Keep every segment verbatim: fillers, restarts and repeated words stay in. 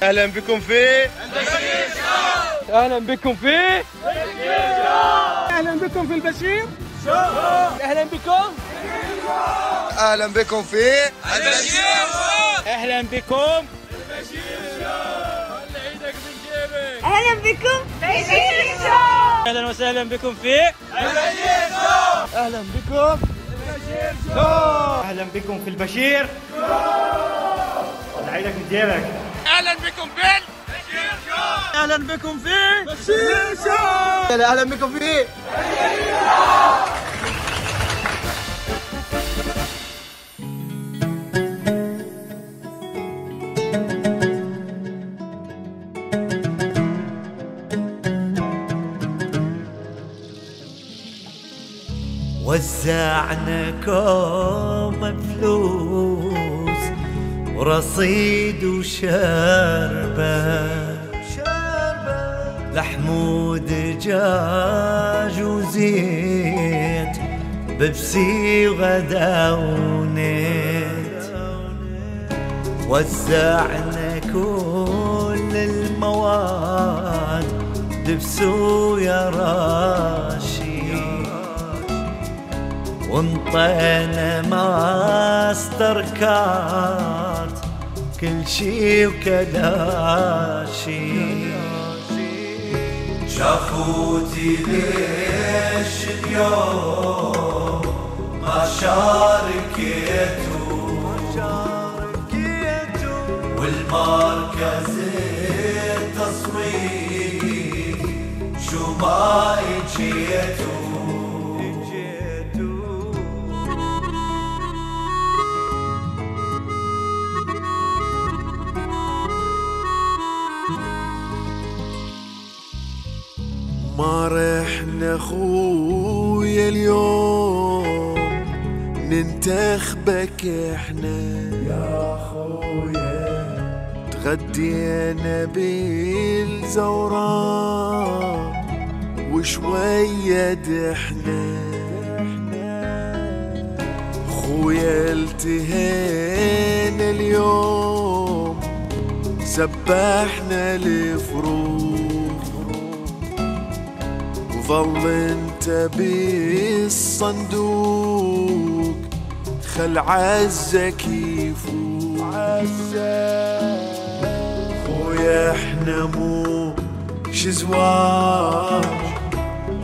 اهلا بكم في البشير شو. اهلا بكم في البشير شو. اهلا بكم في البشير شو. اهلا بكم اهلا بكم في البشير شو. اهلا بكم البشير شو. خلي ايدك من جيبك. اهلا بكم في البشير شو. اهلا وسهلا بكم في البشير شو. اهلا بكم البشير شو. اهلا بكم في البشير خلي ايدك من جيبك. اهلا بكم في البشير شو. اهلا بكم في البشير شو. اهلا بكم في وزعنا كوم فلوس ورصيد وشربة لحمود دجاج وزيت بيبسي وغدا ونت. وزعنا كل المواد دبس ويا راشي وانطينا ماستر كارت كل شي وكلاشي. شافوتي ليش اليوم ما شاركتو والمركز التصويت شو ما اجيتو. ما رحنا خويا اليوم ننتخبك احنا يا خويا. تغدينا بالزوران وشوية دحنا خويا. التهينا اليوم سبحنا الفروض ظل انت بالصندوق خل عزك يفوق. خويا احنا مو شزواج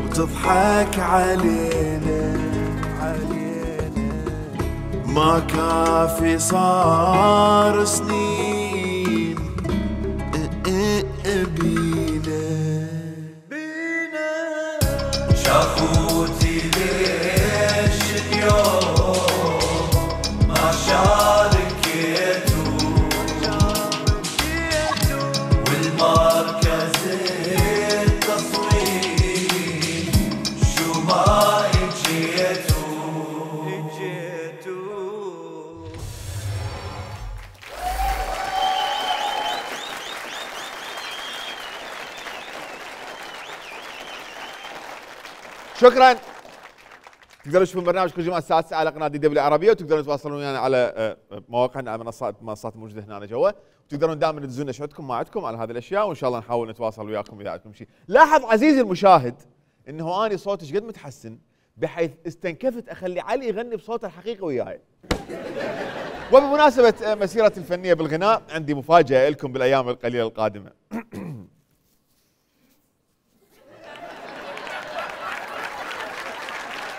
وتضحك علينا علينا ما كافي صار سنين بينا. شافوتي ليش اليوم ما شاركتو والمركز التصويت شو ما اجيتو. شكرا. تقدروا تشوفون برنامج كل جمعه الساعه تسعة على قناه دي دبليو العربيه، وتقدرون تتواصلون ويانا على مواقعنا على منصات منصات موجوده هنا جوا، وتقدرون دائما تدزون لنا شعوركم ما عندكم على هذه الاشياء، وان شاء الله نحاول نتواصل وياكم اذا عندكم شيء. لاحظ عزيزي المشاهد انه اني صوتي ايش قد متحسن بحيث استنكفت اخلي علي يغني بصوته الحقيقي وياي. وبمناسبه مسيرتي الفنيه بالغناء عندي مفاجاه لكم بالايام القليله القادمه.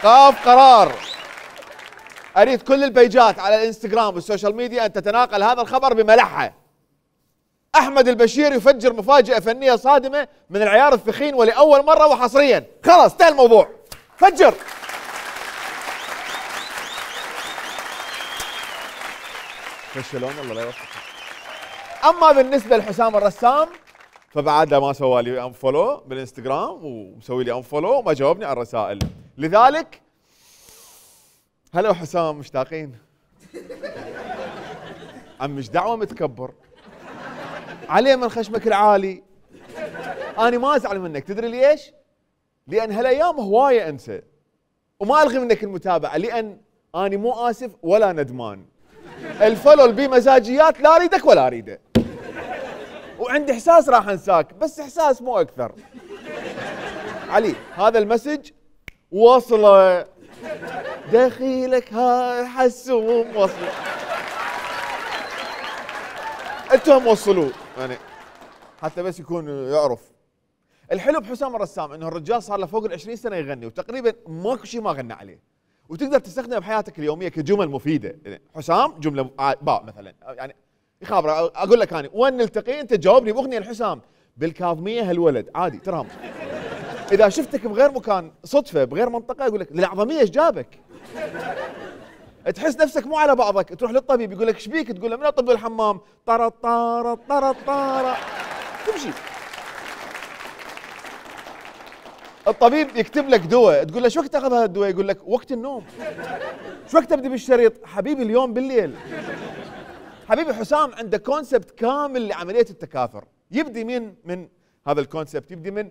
قاف قرار اريد كل البيجات على الانستغرام والسوشيال ميديا ان تتناقل هذا الخبر بملحه. احمد البشير يفجر مفاجاه فنيه صادمه من العيار الثخين ولاول مره وحصريا. خلاص انتهى الموضوع. فجر. فشلون والله لا يوفقك. اما بالنسبه لحسام الرسام فبعده ما سوى لي انفولو بالانستغرام ومسوي لي انفولو وما جاوبني على الرسائل، لذلك هلا حسام مشتاقين. عم مش دعوه متكبر عليه من خشمك العالي. انا ما ازعل منك، تدري ليش؟ لان هالايام هوايه انسى وما الغي منك المتابعه، لان انا مو اسف ولا ندمان. الفولو بمزاجيات لا اريدك ولا اريده. وعندي احساس راح انساك، بس احساس مو اكثر. علي هذا المسج وصله، دخيلك ها حسوم وصله، انتم وصلوه يعني حتى بس يكون يعرف. الحلو بحسام الرسام انه الرجال صار له فوق ال عشرين سنه يغني وتقريبا ماكو شيء ما غنى عليه، وتقدر تستخدمه بحياتك اليوميه كجمل مفيده. يعني حسام جمله باء مثلا، يعني يخابر اقول لك انا وين نلتقي انت تجاوبني باغنيه الحسام بالكاظميه هالولد عادي ترهم. اذا شفتك بغير مكان صدفه بغير منطقه اقول لك للعظميه ايش جابك؟ تحس نفسك مو على بعضك، تروح للطبيب يقول لك ايش بيك؟ تقول له من اطب الحمام، طرا طارا طرا طارا تمشي. الطبيب يكتب لك دواء، تقول له شو وقت تاخذ هذا الدواء؟ يقول لك وقت النوم. شو وقت ابدي بالشريط؟ حبيبي اليوم بالليل. حبيبي حسام عنده كونسبت كامل لعمليه التكاثر، يبدي من من هذا الكونسبت، يبدي من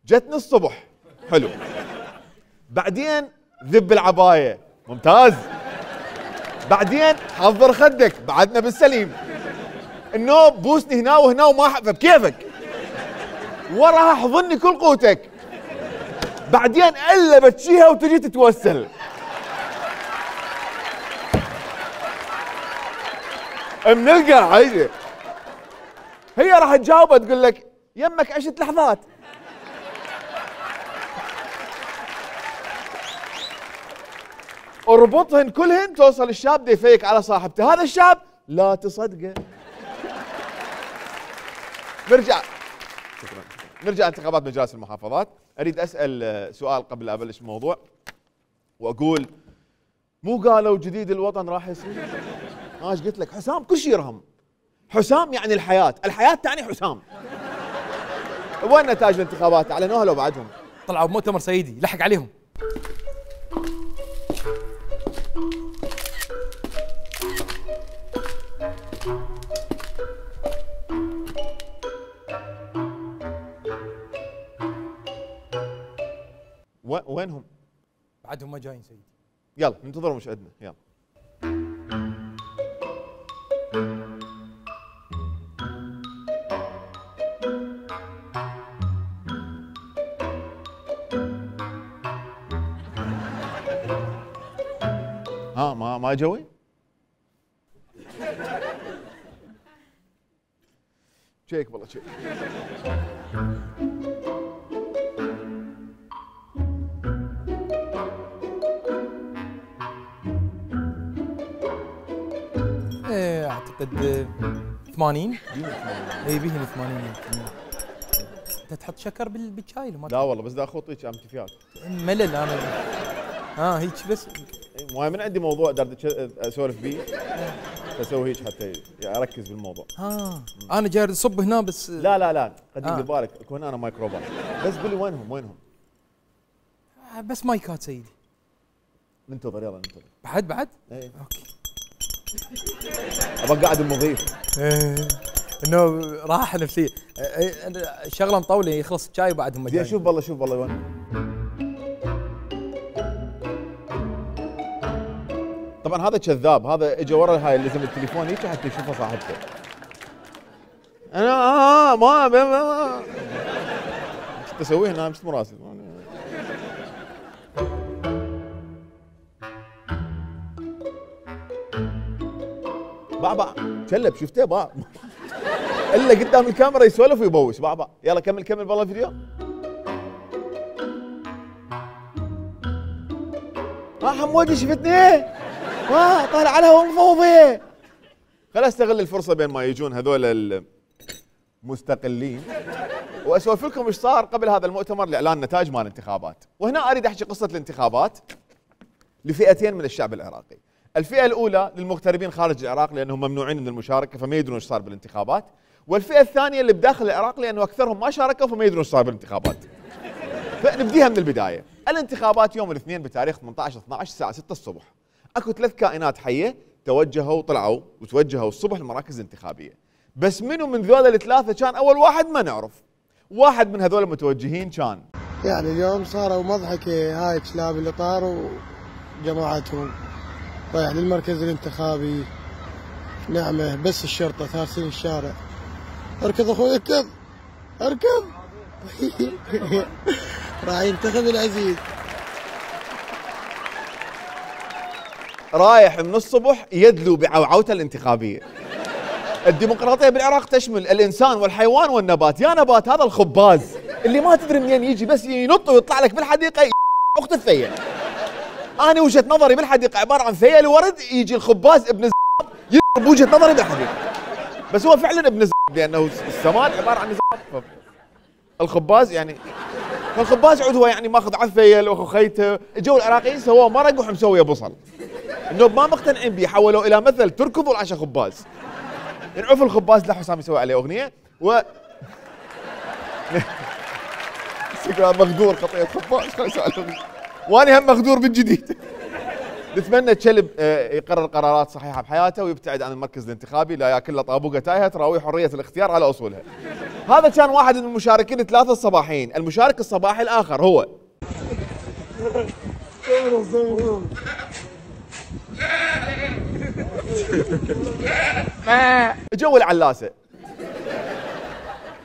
جتني الصبح حلو، بعدين ذب العبايه ممتاز، بعدين حضر خدك بعدنا بالسليم، النوم بوسني هنا وهنا وما احب بكيفك، وراها احضني كل قوتك، بعدين الا بتشيها وتجي تتوسل. من القاعده هي راح تجاوبها تقول لك يمك عشت لحظات. اربطهن كلهن توصل الشاب دا يفيك على صاحبته، هذا الشاب لا تصدقه. نرجع شكرا نرجع انتخابات مجالس المحافظات. اريد اسال سؤال قبل لا ابلش الموضوع، واقول مو قالوا جديد الوطن راح يصير؟ ها ايش قلت لك؟ حسام كل شيء يرهم. حسام يعني الحياه، الحياه تعني حسام. وين نتائج الانتخابات؟ اعلنوها لو بعدهم؟ طلعوا بمؤتمر سيدي لحق عليهم. وينهم؟ بعدهم ما جايين سيدي. يلا ننتظرهم مش عندنا. يلا ها ما ما جوي؟ شيك والله شيك. ايه اعتقد ثمانين. اي بيهن ثمانين. انت تحط شكر بالشاي؟ لا والله بس دا اخوطيك امتفيات. ملل انا. ها هيك بس. مو من عندي موضوع دار اسولف بيه فاسوي هيك حتى اركز بالموضوع. ها انا جاي اصب هنا بس. لا لا لا قدم آه. بالك اكون انا مايكروبات. بس قول لي وينهم وينهم؟ بس مايكات سيدي. ننتظر يلا ننتظر. بعد بعد؟ ايه اوكي. ابى قاعد المضيف. ايه انه راحه نفسيه. شغله مطوله يخلص الشاي وبعدهم جايين. شوف والله شوف والله وين. طبعا هذا كذاب، هذا اجى ورا هاي اللي لازم التليفون هيك حتى يشوفه صاحبته. انا آه ما ما ايش تسويه هنا؟ مش مراسل. باع باع كلب شفته باع الا قدام الكاميرا يسولف ويبوس. باع باع يلا كمل كمل والله الفيديو. ها حمودي شفتني؟ ها طالع على الهواء مفوضي. خل استغل الفرصه بين ما يجون هذول المستقلين واسولف لكم ايش صار قبل هذا المؤتمر لاعلان نتائج مال الانتخابات. وهنا اريد احكي قصه الانتخابات لفئتين من الشعب العراقي. الفئه الاولى للمغتربين خارج العراق لانهم ممنوعين من المشاركه فما يدرون ايش صار بالانتخابات، والفئه الثانيه اللي بداخل العراق لانه اكثرهم ما شاركوا فما يدرون ايش صار بالانتخابات. فنبديها من البدايه. الانتخابات يوم الاثنين بتاريخ ثمانية عشر اثني عشر الساعه ستة الصبح. اكو ثلاث كائنات حيه توجهوا طلعوا وتوجهوا الصبح المراكز الانتخابيه. بس منو من ذول الثلاثه كان اول واحد ما نعرف. واحد من هذول المتوجهين كان يعني اليوم صاروا مضحكه هاي كلاب الاطار وجماعتهم رايح للمركز الانتخابي. نعمه بس الشرطه ثارسين الشارع اركض اخوي اركض اركض. راح ينتخب العزيز. رايح من الصبح يدلو بعوعوته الانتخابيه. الديمقراطيه بالعراق تشمل الانسان والحيوان والنبات، يا نبات هذا الخباز اللي ما تدري منين يجي بس ينط ويطلع لك بالحديقه اخت الثيل. انا وجهه نظري بالحديقه عباره عن ثيل ورد، يجي الخباز ابن الزباب يضرب وجهه نظري بالحديقه. بس هو فعلا ابن الزباب لانه السماد عباره عن زباب. الخباز يعني فالخباز عود هو يعني ماخذ على الثيل واخو خيته، اجوا العراقيين سووه مرق ومسويه بصل. النوب ما مقتنعين به حولوه الى مثل تركض والعشاء خباز. نعرف الخباز لا حسام يسوي عليه اغنيه و مغدور خطيه خباز خلينا نسوي عليه اغنيه. وانا هم مغدور بالجديد. نتمنى كلب يقرر قرارات صحيحه بحياته ويبتعد عن المركز الانتخابي، لا ياكل له طابوقه تايهه تراوي حريه الاختيار على اصولها. هذا كان واحد من المشاركين الثلاثه الصباحيين، المشارك الصباحي الاخر هو جو العلاسه.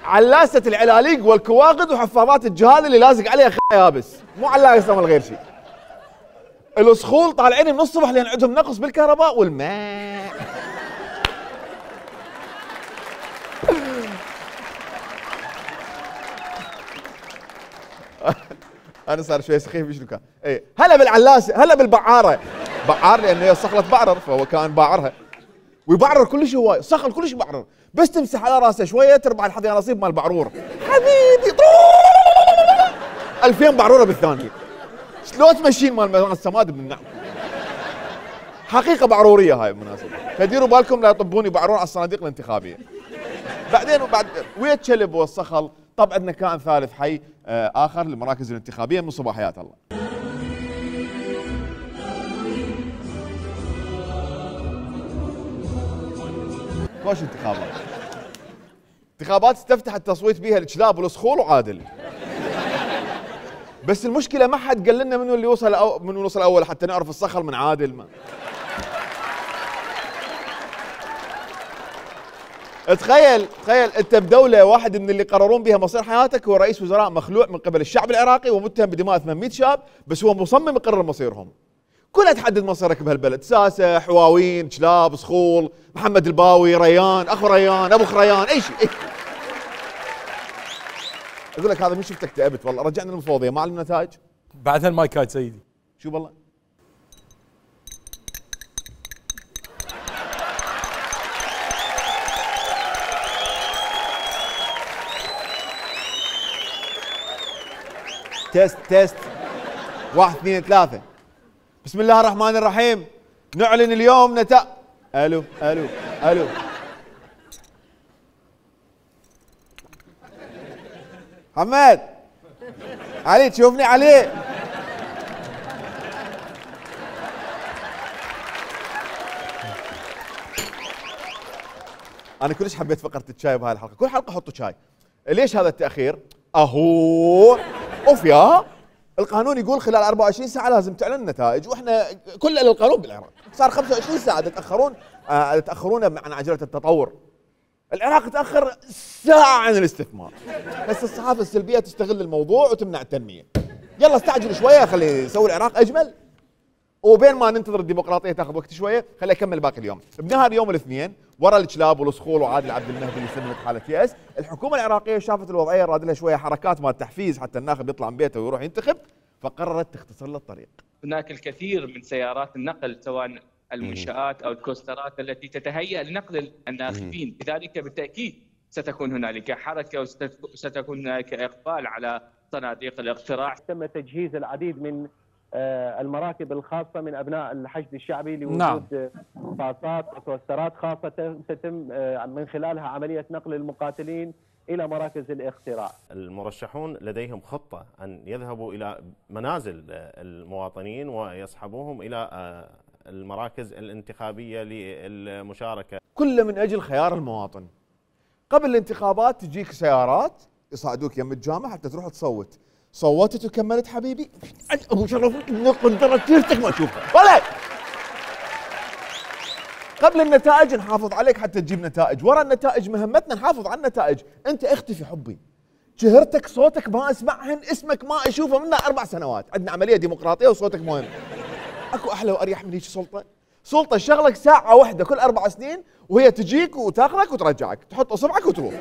علاسه العلاليق والكواغد وحفاظات الجهال اللي لازق عليها خ يابس، مو علاسه مال غير شيء. الصخول طالعين من الصبح لان عندهم نقص بالكهرباء والماء. انا صار شوي سخيف شنو كان؟ اي هلا بالعلاسه، هلا بالبعاره. بعار لانه هي صخله بعرر فهو كان باعرها. ويبعرر كلش هواي، صخل كلش يبعرر، بس تمسح على راسه شويه تربح الحظ يا نصيب مال بعرور. حبيبي ألفين بعروره بالثانيه. شلون تمشين مال السماد من النعم؟ حقيقه بعروريه هاي بالمناسبه، فديروا بالكم لا يطبوني بعرور على الصناديق الانتخابيه. بعدين وبعد ويا الكلب والصخل، طب عندنا كائن ثالث حي آه اخر للمراكز الانتخابيه من صباحيات الله. كوش انتخابات. انتخابات استفتح التصويت بها الكلاب والصخول وعادل. بس المشكله ما حد قال لنا منو اللي وصل أو منو وصل اول حتى نعرف الصخل من عادل. ما تخيل تخيل انت بدوله واحد من اللي قررون بها مصير حياتك هو رئيس وزراء مخلوع من قبل الشعب العراقي ومتهم بدماء ثمانمئة شاب، بس هو مصمم يقرر مصيرهم. كلها تحدد مصيرك بهالبلد، ساسه، حواوين، كلاب، صخول، محمد الباوي، ريان، اخو ريان، ابو خريان، اي شيء. اقول لك هذا من شفتك تعبت والله، رجعنا للمفوضيه ما علم نتائج. بعد هالمايكات سيدي. شو والله؟ تيست تيست واحد اثنين ثلاثة. بسم الله الرحمن الرحيم. نعلن اليوم نتائج. الو الو الو. حماد علي تشوفني علي؟ انا كلش حبيت فقره الشاي بهاي الحلقه، كل حلقه حطوا شاي. ليش هذا التاخير؟ اهو اوف يا القانون يقول خلال أربعة وعشرين ساعه لازم تعلن النتائج، واحنا كل القانون بالعراق صار خمسة وعشرين ساعه تتاخرون آه تتاخرون عن عجله التطور. العراق تاخر ساعه عن الاستثمار، بس الصحافه السلبيه تستغل الموضوع وتمنع التنميه. يلا استعجل شويه خلي يسوي العراق اجمل، وبين ما ننتظر الديمقراطيه تاخذ وقت شويه خلي اكمل باقي اليوم. بنهار يوم الاثنين ورا الكلاب والصخول وعادل عبد المهدي اللي سلمت حاله يأس، الحكومه العراقيه شافت الوضعيه راد لها شويه حركات مال تحفيز حتى الناخب يطلع من بيته ويروح ينتخب، فقررت تختصر له الطريق. هناك الكثير من سيارات النقل سواء المنشآت او الكوسترات التي تتهيأ لنقل الناخبين، لذلك بالتاكيد ستكون هنالك حركه وستكون هنالك اقبال على صناديق الاقتراع. تم تجهيز العديد من المراكب الخاصه من ابناء الحشد الشعبي لوجود نعم. باصات وكوسترات خاصه تتم من خلالها عمليه نقل المقاتلين الى مراكز الاقتراع. المرشحون لديهم خطه ان يذهبوا الى منازل المواطنين ويصحبوهم الى المراكز الانتخابيه للمشاركه. كله من اجل خيار المواطن. قبل الانتخابات تجيك سيارات يصعدوك يم الجامع حتى تروح تصوت. صوتت وكملت حبيبي ابو شرف قدرت سيرتك ما اشوفها ولا قبل النتائج نحافظ عليك حتى تجيب نتائج، ورا النتائج مهمتنا نحافظ على النتائج. انت اختفي حبي، شهرتك صوتك ما اسمعهن، اسمك ما اشوفه منها اربع سنوات، عندنا عمليه ديمقراطيه وصوتك مهم. اكو احلى واريح من هيك سلطه؟ سلطه شغلك ساعه واحده كل اربع سنين وهي تجيك وتاخذك وترجعك، تحط اصبعك وتروح.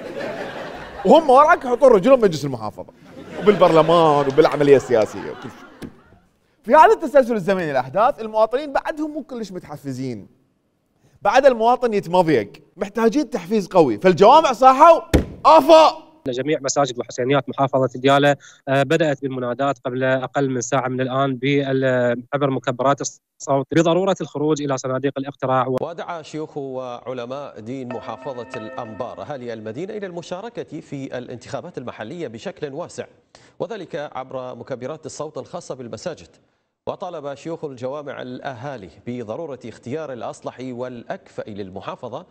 وهم وراك يحطون رجلهم بمجلس المحافظه وبالبرلمان وبالعمليه السياسيه وكل شيء. في هذا التسلسل الزمني الاحداث المواطنين بعدهم مو كلش متحفزين. بعد المواطن يتمضيق، محتاجين تحفيز قوي، فالجوامع صاحوا افا. جميع مساجد وحسينيات محافظة ديالى بدأت بالمنادات قبل أقل من ساعة من الآن عبر مكبرات الصوت بضرورة الخروج إلى صناديق الاقتراع. ودعا شيوخ وعلماء دين محافظة الأنبار أهالي المدينة إلى المشاركة في الانتخابات المحلية بشكل واسع، وذلك عبر مكبرات الصوت الخاصة بالمساجد. وطالب شيوخ الجوامع الأهالي بضرورة اختيار الأصلح والأكفأ للمحافظة.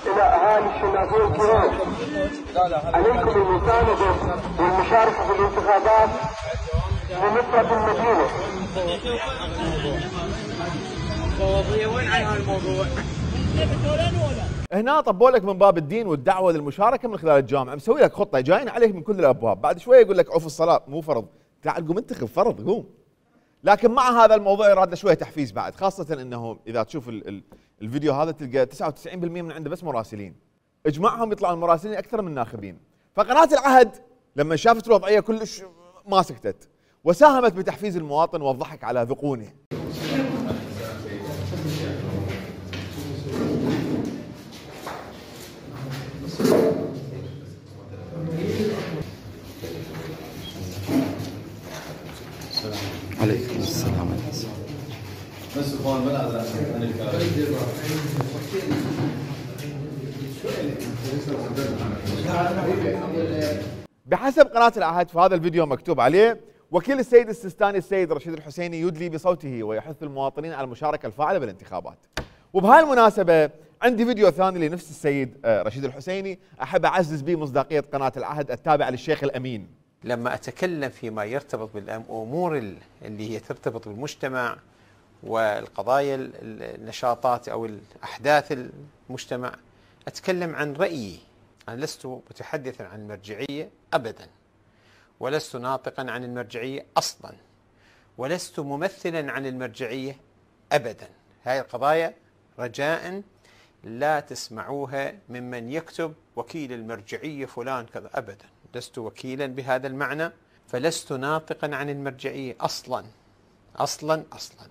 إلى أهالي الشنافين الكرام، عليكم المساندة والمشاركة في الانتخابات بمفرد المدينة. وين عن هالموضوع؟ هنا طبوا لك من باب الدين والدعوه للمشاركه من خلال الجامعه، مسوي لك خطه جايين عليك من كل الابواب، بعد شويه يقول لك عوف الصلاه مو فرض، تعال قوم انتخب فرض قوم. لكن مع هذا الموضوع يراد له شويه تحفيز بعد، خاصه انه اذا تشوف ال ال الفيديو هذا تلقى تسعة وتسعين بالمئة من عنده بس مراسلين، اجمعهم يطلعون المراسلين اكثر من الناخبين. فقناه العهد لما شافت الوضعيه كلش ما سكتت وساهمت بتحفيز المواطن والضحك على ذقونه. عليكم السلام عليكم. بس اخوان ما عن الكلام. بحسب قناة العهد في هذا الفيديو مكتوب عليه: وكيل السيد السيستاني السيد رشيد الحسيني يدلي بصوته ويحث المواطنين على المشاركة الفاعلة بالانتخابات. وبهاي المناسبة عندي فيديو ثاني لنفس السيد رشيد الحسيني أحب أعزز به مصداقية قناة العهد التابعة للشيخ الأمين. لما أتكلم فيما يرتبط بالأمور اللي هي ترتبط بالمجتمع والقضايا النشاطات أو الأحداث المجتمع، أتكلم عن رأيي. أنا لست متحدثا عن المرجعية أبدا، ولست ناطقا عن المرجعية أصلا، ولست ممثلا عن المرجعية أبدا. هذه القضايا رجاء لا تسمعوها ممن يكتب وكيل المرجعية فلان كذا، أبدا لست وكيلا بهذا المعنى، فلست ناطقا عن المرجعية أصلا أصلا أصلا.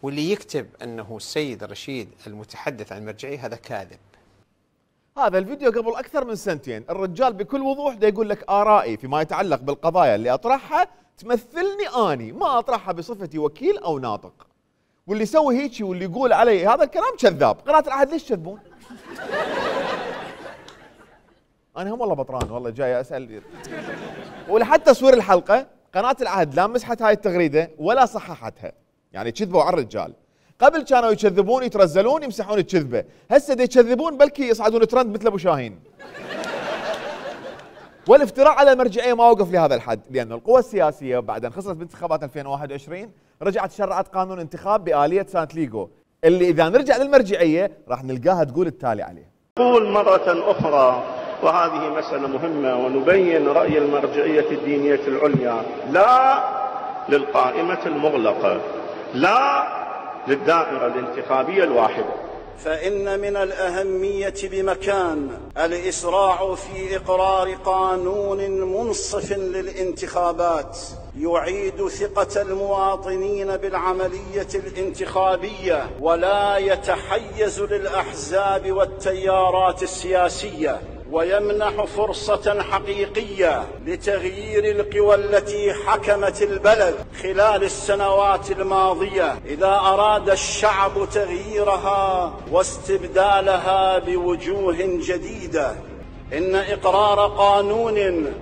واللي يكتب أنه السيد رشيد المتحدث عن المرجعية هذا كاذب. هذا الفيديو قبل أكثر من سنتين، الرجال بكل وضوح دا يقول لك آرائي فيما يتعلق بالقضايا اللي أطرحها تمثلني أني، ما أطرحها بصفتي وكيل أو ناطق. واللي يسوي هيك واللي يقول علي هذا الكلام كذاب. قناة العهد ليش تكذبون؟ أنا هم والله بطران، والله جاي أسأل. ولحتى تصوير الحلقة قناة العهد لا مسحت هاي التغريدة ولا صححتها، يعني كذبوا على الرجال. قبل كانوا يكذبون يترزلون يمسحون الكذبة، هسه دا يكذبون بلكي يصعدون ترند مثل أبو شاهين. والافتراء على المرجعية ما وقف لهذا الحد، لأن القوى السياسية بعد أن خسرت بانتخابات ألفين وواحد وعشرين رجعت شرعت قانون انتخاب بآلية سانتليغو، اللي إذا نرجع للمرجعية راح نلقاها تقول التالي عليه. نقول مرة أخرى وهذه مسألة مهمة ونبين رأي المرجعية الدينية العليا: لا للقائمة المغلقة، لا للدائرة الانتخابية الواحدة. فإن من الأهمية بمكان الإسراع في إقرار قانون منصف للانتخابات يعيد ثقة المواطنين بالعملية الانتخابية ولا يتحيز للأحزاب والتيارات السياسية، ويمنح فرصة حقيقية لتغيير القوى التي حكمت البلد خلال السنوات الماضية إذا أراد الشعب تغييرها واستبدالها بوجوه جديدة. إن إقرار قانون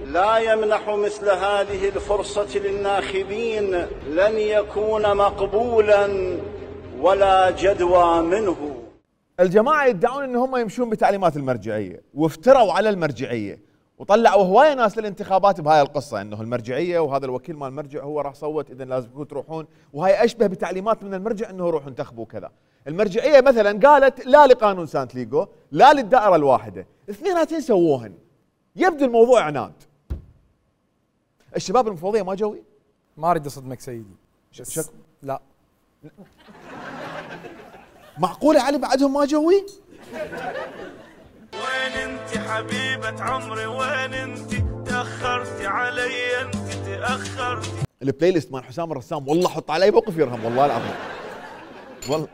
لا يمنح مثل هذه الفرصة للناخبين لن يكون مقبولا ولا جدوى منه. الجماعة يدعون ان هم يمشون بتعليمات المرجعية وافتروا على المرجعية وطلعوا هوايه ناس للانتخابات بهاي القصه انه المرجعيه وهذا الوكيل مال المرجع هو راح صوت اذا لازم تروحون، وهاي اشبه بتعليمات من المرجع انه روحوا انتخبوا كذا. المرجعيه مثلا قالت لا لقانون سانتليغو لا للدائره الواحده، اثنيناتين سووهن. يبدو الموضوع عناد. الشباب المفوضيه ما جوي؟ ما اريد اصدمك سيدي. شك لا معقوله علي بعدهم ما جوي؟ وين انت حبيبة عمري وين انت؟ تأخرتي علي انت تأخرتي. البلاي ليست مال حسام الرسام والله حط علي موقف يرهم والله العظيم. والله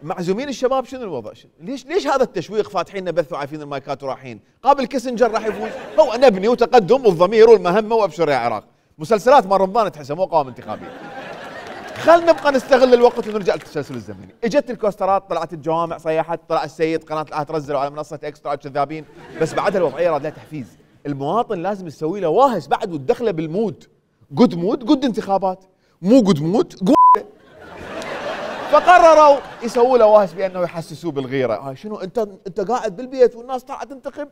معزومين الشباب شنو الوضع؟ ليش ليش هذا التشويق فاتحين لنا بث وعارفين المايكات ورايحين؟ قابل كيسنجر راح يفوز، هو نبني وتقدم والضمير والمهمه وابشر يا عراق. مسلسلات مال رمضان تحسها مو قوائم انتخابيه. خلنا نبقى نستغل الوقت ونرجع للتسلسل الزمني. اجت الكوسترات، طلعت الجوامع، صيحت، طلع السيد، قناه الآن ترزلوا على منصه اكسترا كذابين، بس بعدها الوضعيه راد لها تحفيز. المواطن لازم تسوي له واهس بعد وتدخله بالمود. جود مود، جود انتخابات، مو جود مود، جود. فقرروا يسووا له واهس بانه يحسسوه بالغيره، هاي شنو انت انت قاعد بالبيت والناس طلعت تنتخب؟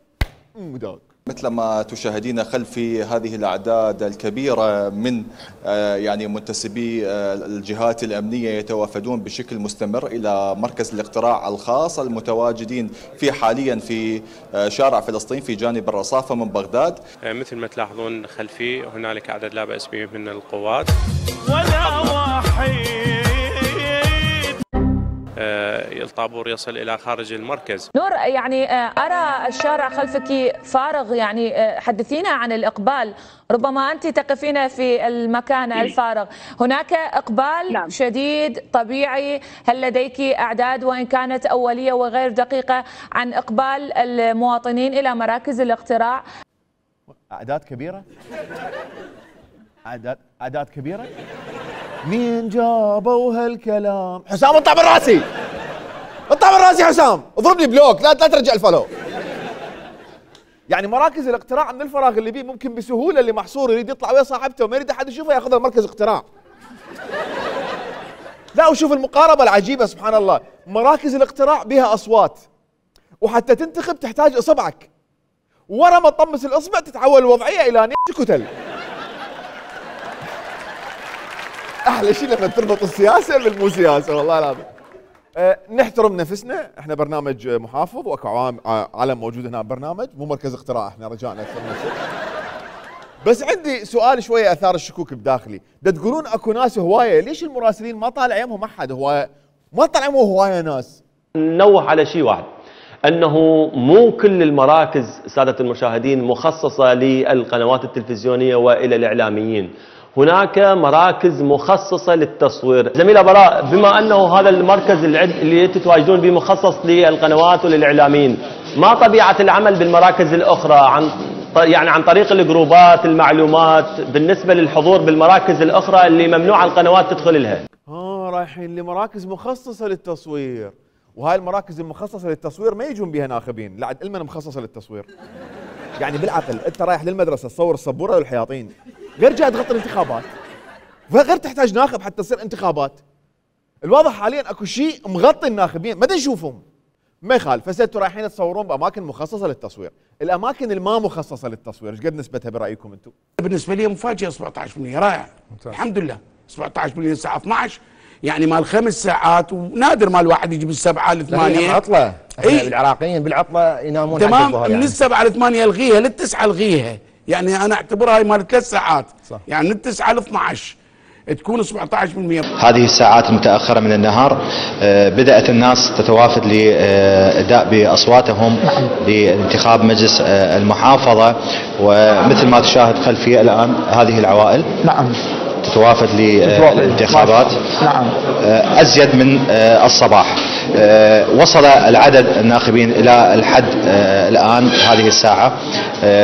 مداك. مثل ما تشاهدين خلفي هذه الأعداد الكبيرة من يعني منتسبي الجهات الأمنية يتوافدون بشكل مستمر إلى مركز الاقتراع الخاص المتواجدين في حاليا في شارع فلسطين في جانب الرصافة من بغداد. مثل ما تلاحظون خلفي هنالك عدد لا بأس به من القوات. ولا وحيد الطابور يصل إلى خارج المركز. نور، يعني أرى الشارع خلفك فارغ، يعني حدثينا عن الإقبال، ربما أنت تقفين في المكان الفارغ. هناك إقبال نعم. شديد طبيعي، هل لديك أعداد وإن كانت أولية وغير دقيقة عن إقبال المواطنين إلى مراكز الاقتراع؟ أعداد كبيرة؟ أعداد أعداد كبيرة؟ مين جابوا هالكلام؟ حسام اطلع من راسي! اطلع من راسي حسام! اضربني بلوك، لا لا ترجع الفولو. يعني مراكز الاقتراع من الفراغ اللي بيه ممكن بسهوله اللي محصور يريد يطلع ويا صاحبته وما يريد احد يشوفه ياخذها مركز اقتراع. لا وشوف المقاربه العجيبه سبحان الله، مراكز الاقتراع بها اصوات وحتى تنتخب تحتاج اصبعك. ورا ما تطمس الاصبع تتحول الوضعيه الى نيش كتل. احلى شيء لما تربط السياسه بالمو سياسه والله العظيم. أه نحترم نفسنا، احنا برنامج محافظ واكو علم موجود هنا برنامج، مو مركز اقتراع، احنا رجعنا اكثر من شيء. بس عندي سؤال شويه اثار الشكوك بداخلي، دا تقولون اكو ناس هوايه، ليش المراسلين ما طالع يمهم احد هوايه؟ ما طالع يمهم هوايه ناس. نوه على شيء واحد، انه مو كل المراكز ساده المشاهدين مخصصه للقنوات التلفزيونيه والى الاعلاميين. هناك مراكز مخصصة للتصوير. زميلة براء، بما أنه هذا المركز اللي تتواجدون به مخصص للقنوات وللإعلاميين، ما طبيعة العمل بالمراكز الأخرى عن يعني عن طريق الجروبات المعلومات بالنسبة للحضور بالمراكز الأخرى اللي ممنوع القنوات تدخل لها؟ اه رايحين لمراكز مخصصة للتصوير، وهاي المراكز المخصصة للتصوير ما يجون بها ناخبين، لا علما مخصصة للتصوير. يعني بالعقل أنت رايح للمدرسة تصور السبورة والحياطين، غير جاي تغطي الانتخابات، غير تحتاج ناخب حتى تصير انتخابات. الواضح حاليا اكو شيء مغطي الناخبين ما نشوفهم. ما يخالف، هسه انتم رايحين تصورون باماكن مخصصه للتصوير، الاماكن الما مخصصه للتصوير ايش قد نسبتها برايكم انتم؟ بالنسبه لي مفاجاه سبعة عشر بالمئة رائع. ممتاز. الحمد لله سبعة عشر بالمئة الساعه اثنعش، يعني مال خمس ساعات، ونادر ما الواحد يجي بالسبعه لثمانيه. عطله، احنا العراقيين بالعطله ينامون. تمام، من يعني. السبعه لثمانيه الغيها، للتسعه الغيها، يعني انا اعتبرها هاي مال ثلاث ساعات. صح. يعني من التسعه ل اثنعش تكون سبعة عشر بالمئة. هذه الساعات المتأخرة من النهار بدأت الناس تتوافد لإداء بأصواتهم لانتخاب مجلس المحافظة، ومثل ما تشاهد خلفي الآن هذه العوائل نعم تتوافد للانتخابات. نعم. أزيد من الصباح. وصل العدد الناخبين إلى الحد الآن هذه الساعة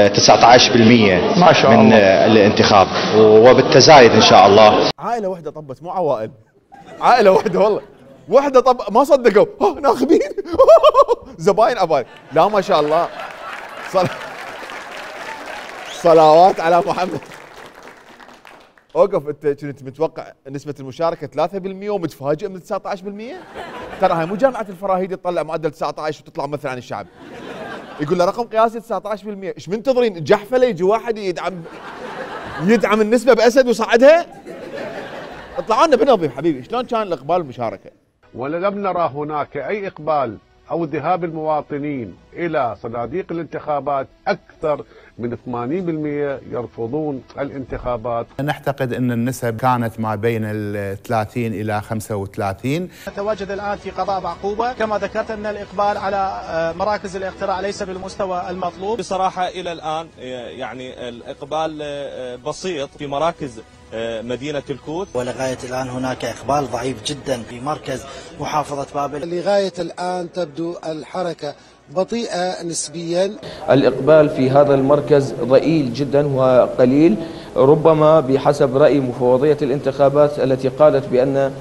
تسعة عشر بالمئة ما شاء من الله. الانتخاب، وبالتزايد إن شاء الله. عائلة واحدة طبت، مو عوائل، عائلة واحدة والله، واحدة طب ما صدقوا ناخبين زباين أباي. لا ما شاء الله، صل... صلوات على محمد. اوقف، انت كنت متوقع نسبة المشاركة ثلاثة بالمئة ومتفاجئ من تسعة عشر بالمئة؟ ترى هاي مو جامعة الفراهيدي تطلع معدل تسعة عشر وتطلع ممثل عن الشعب. يقول له رقم قياسي تسعة عشر بالمئة، ايش منتظرين الجحفله يجي واحد يدعم يدعم النسبه باسد ويصعدها؟ اطلعوا لنا بنظيف حبيبي، شلون كان الاقبال والمشاركه؟ ولم نرى هناك اي اقبال او ذهاب المواطنين الى صناديق الانتخابات. اكثر من ثمانين بالمئة يرفضون الانتخابات. نعتقد ان النسب كانت ما بين ال ثلاثين الى خمسة وثلاثين. نتواجد الان في قضاء بعقوبه، كما ذكرت ان الاقبال على مراكز الاقتراع ليس بالمستوى المطلوب. بصراحه الى الان يعني الاقبال بسيط في مراكز مدينة الكوت، ولغاية الآن هناك إقبال ضعيف جدا في مركز محافظة بابل. لغاية الآن تبدو الحركة بطيئة نسبيا. الإقبال في هذا المركز ضئيل جدا وقليل، ربما بحسب رأي مفوضية الانتخابات التي قالت بأن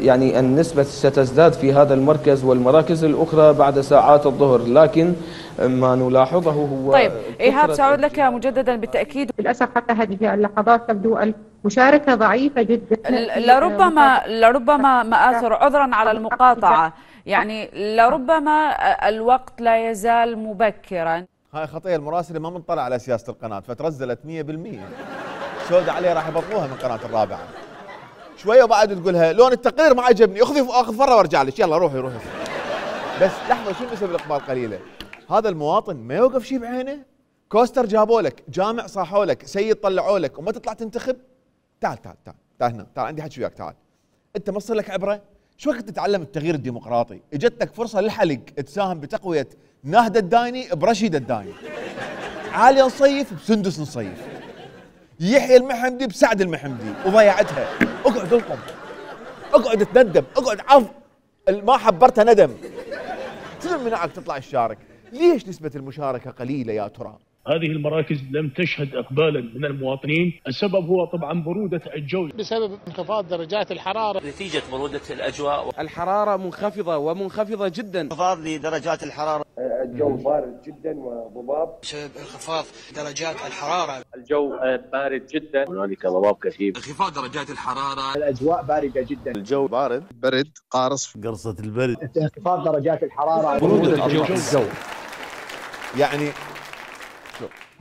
يعني النسبة ستزداد في هذا المركز والمراكز الأخرى بعد ساعات الظهر، لكن ما نلاحظه هو. طيب إيهاب سأعود لك مجددا بالتأكيد. للأسف حتى هذه اللحظات تبدو المشاركة ضعيفة جدا. لربما لربما مآثر، عذرا على المقاطعة، يعني لربما الوقت لا يزال مبكرا. هاي خطية المراسلة ما منطلع على سياسة القناة فترزلت مئة بالمئة. سودة عليه راح يبطلوها من قناة الرابعة. شويه وبعد تقولها لون التقرير ما عجبني، اخذي اخذ فره وارجع لك، يلا روحي روحي. بس لحظه، شو نسب الاقبال قليله؟ هذا المواطن ما يوقف شيء بعينه؟ كوستر جابوا لك، جامع صاحوا لك، سيد طلعوا لك وما تطلع تنتخب؟ تعال تعال تعال تعال هنا، تعال عندي حكي وياك، تعال. انت ما تصير لك عبره؟ شو وقت تتعلم التغيير الديمقراطي؟ اجتك فرصه للحلق تساهم بتقويه ناهد الدايني برشيد الدايني. عاليه نصيف بسندس نصيف. يحيى المحمدي بسعد المحمدي وضيعتها. اقعد القم، اقعد تندم، اقعد عض ما حبرتها ندم. شنو منعك تطلع الشارك؟ ليش نسبة المشاركة قليلة يا ترى؟ هذه المراكز لم تشهد اقبالا من المواطنين، السبب هو طبعا برودة الجو بسبب انخفاض درجات الحرارة. نتيجة برودة الاجواء، الحرارة منخفضة ومنخفضة جدا. انخفاض لدرجات الحرارة. الجو بارد جدا وضباب بسبب انخفاض درجات الحرارة. الجو بارد جدا، هنالك ضباب كثيف. انخفاض درجات الحرارة. الأجواء باردة جدا. الجو بارد، برد قارص، قرصة البرد. انخفاض درجات الحرارة. برودة الجو. الجو. يعني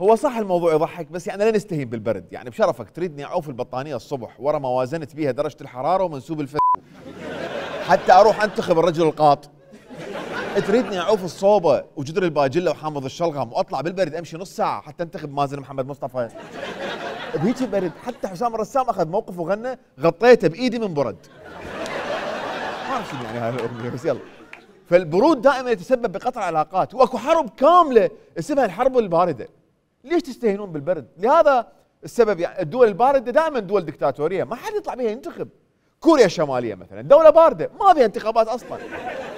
هو صح الموضوع يضحك، بس يعني لا نستهين بالبرد، يعني بشرفك تريدني اعوف البطانيه الصبح ورا ما وازنت بيها درجه الحراره ومنسوب الفت حتى اروح انتخب الرجل القاط. تريدني اعوف الصوبه وجدر الباجله وحامض الشلغم واطلع بالبرد امشي نص ساعه حتى انتخب مازن محمد مصطفى بهيك برد. حتى حسام الرسام اخذ موقف وغنى غطيته بايدي من برد. ما اعرف شنو يعني هاي الاغنيه بس يلا. فالبرود دائما يتسبب بقطع علاقات، واكو حرب كامله اسمها الحرب البارده. ليش تستهينون بالبرد؟ لهذا السبب يعني الدول البارده دائما دول دكتاتوريه ما حد يطلع بها ينتخب. كوريا الشماليه مثلا دوله بارده ما بها انتخابات اصلا،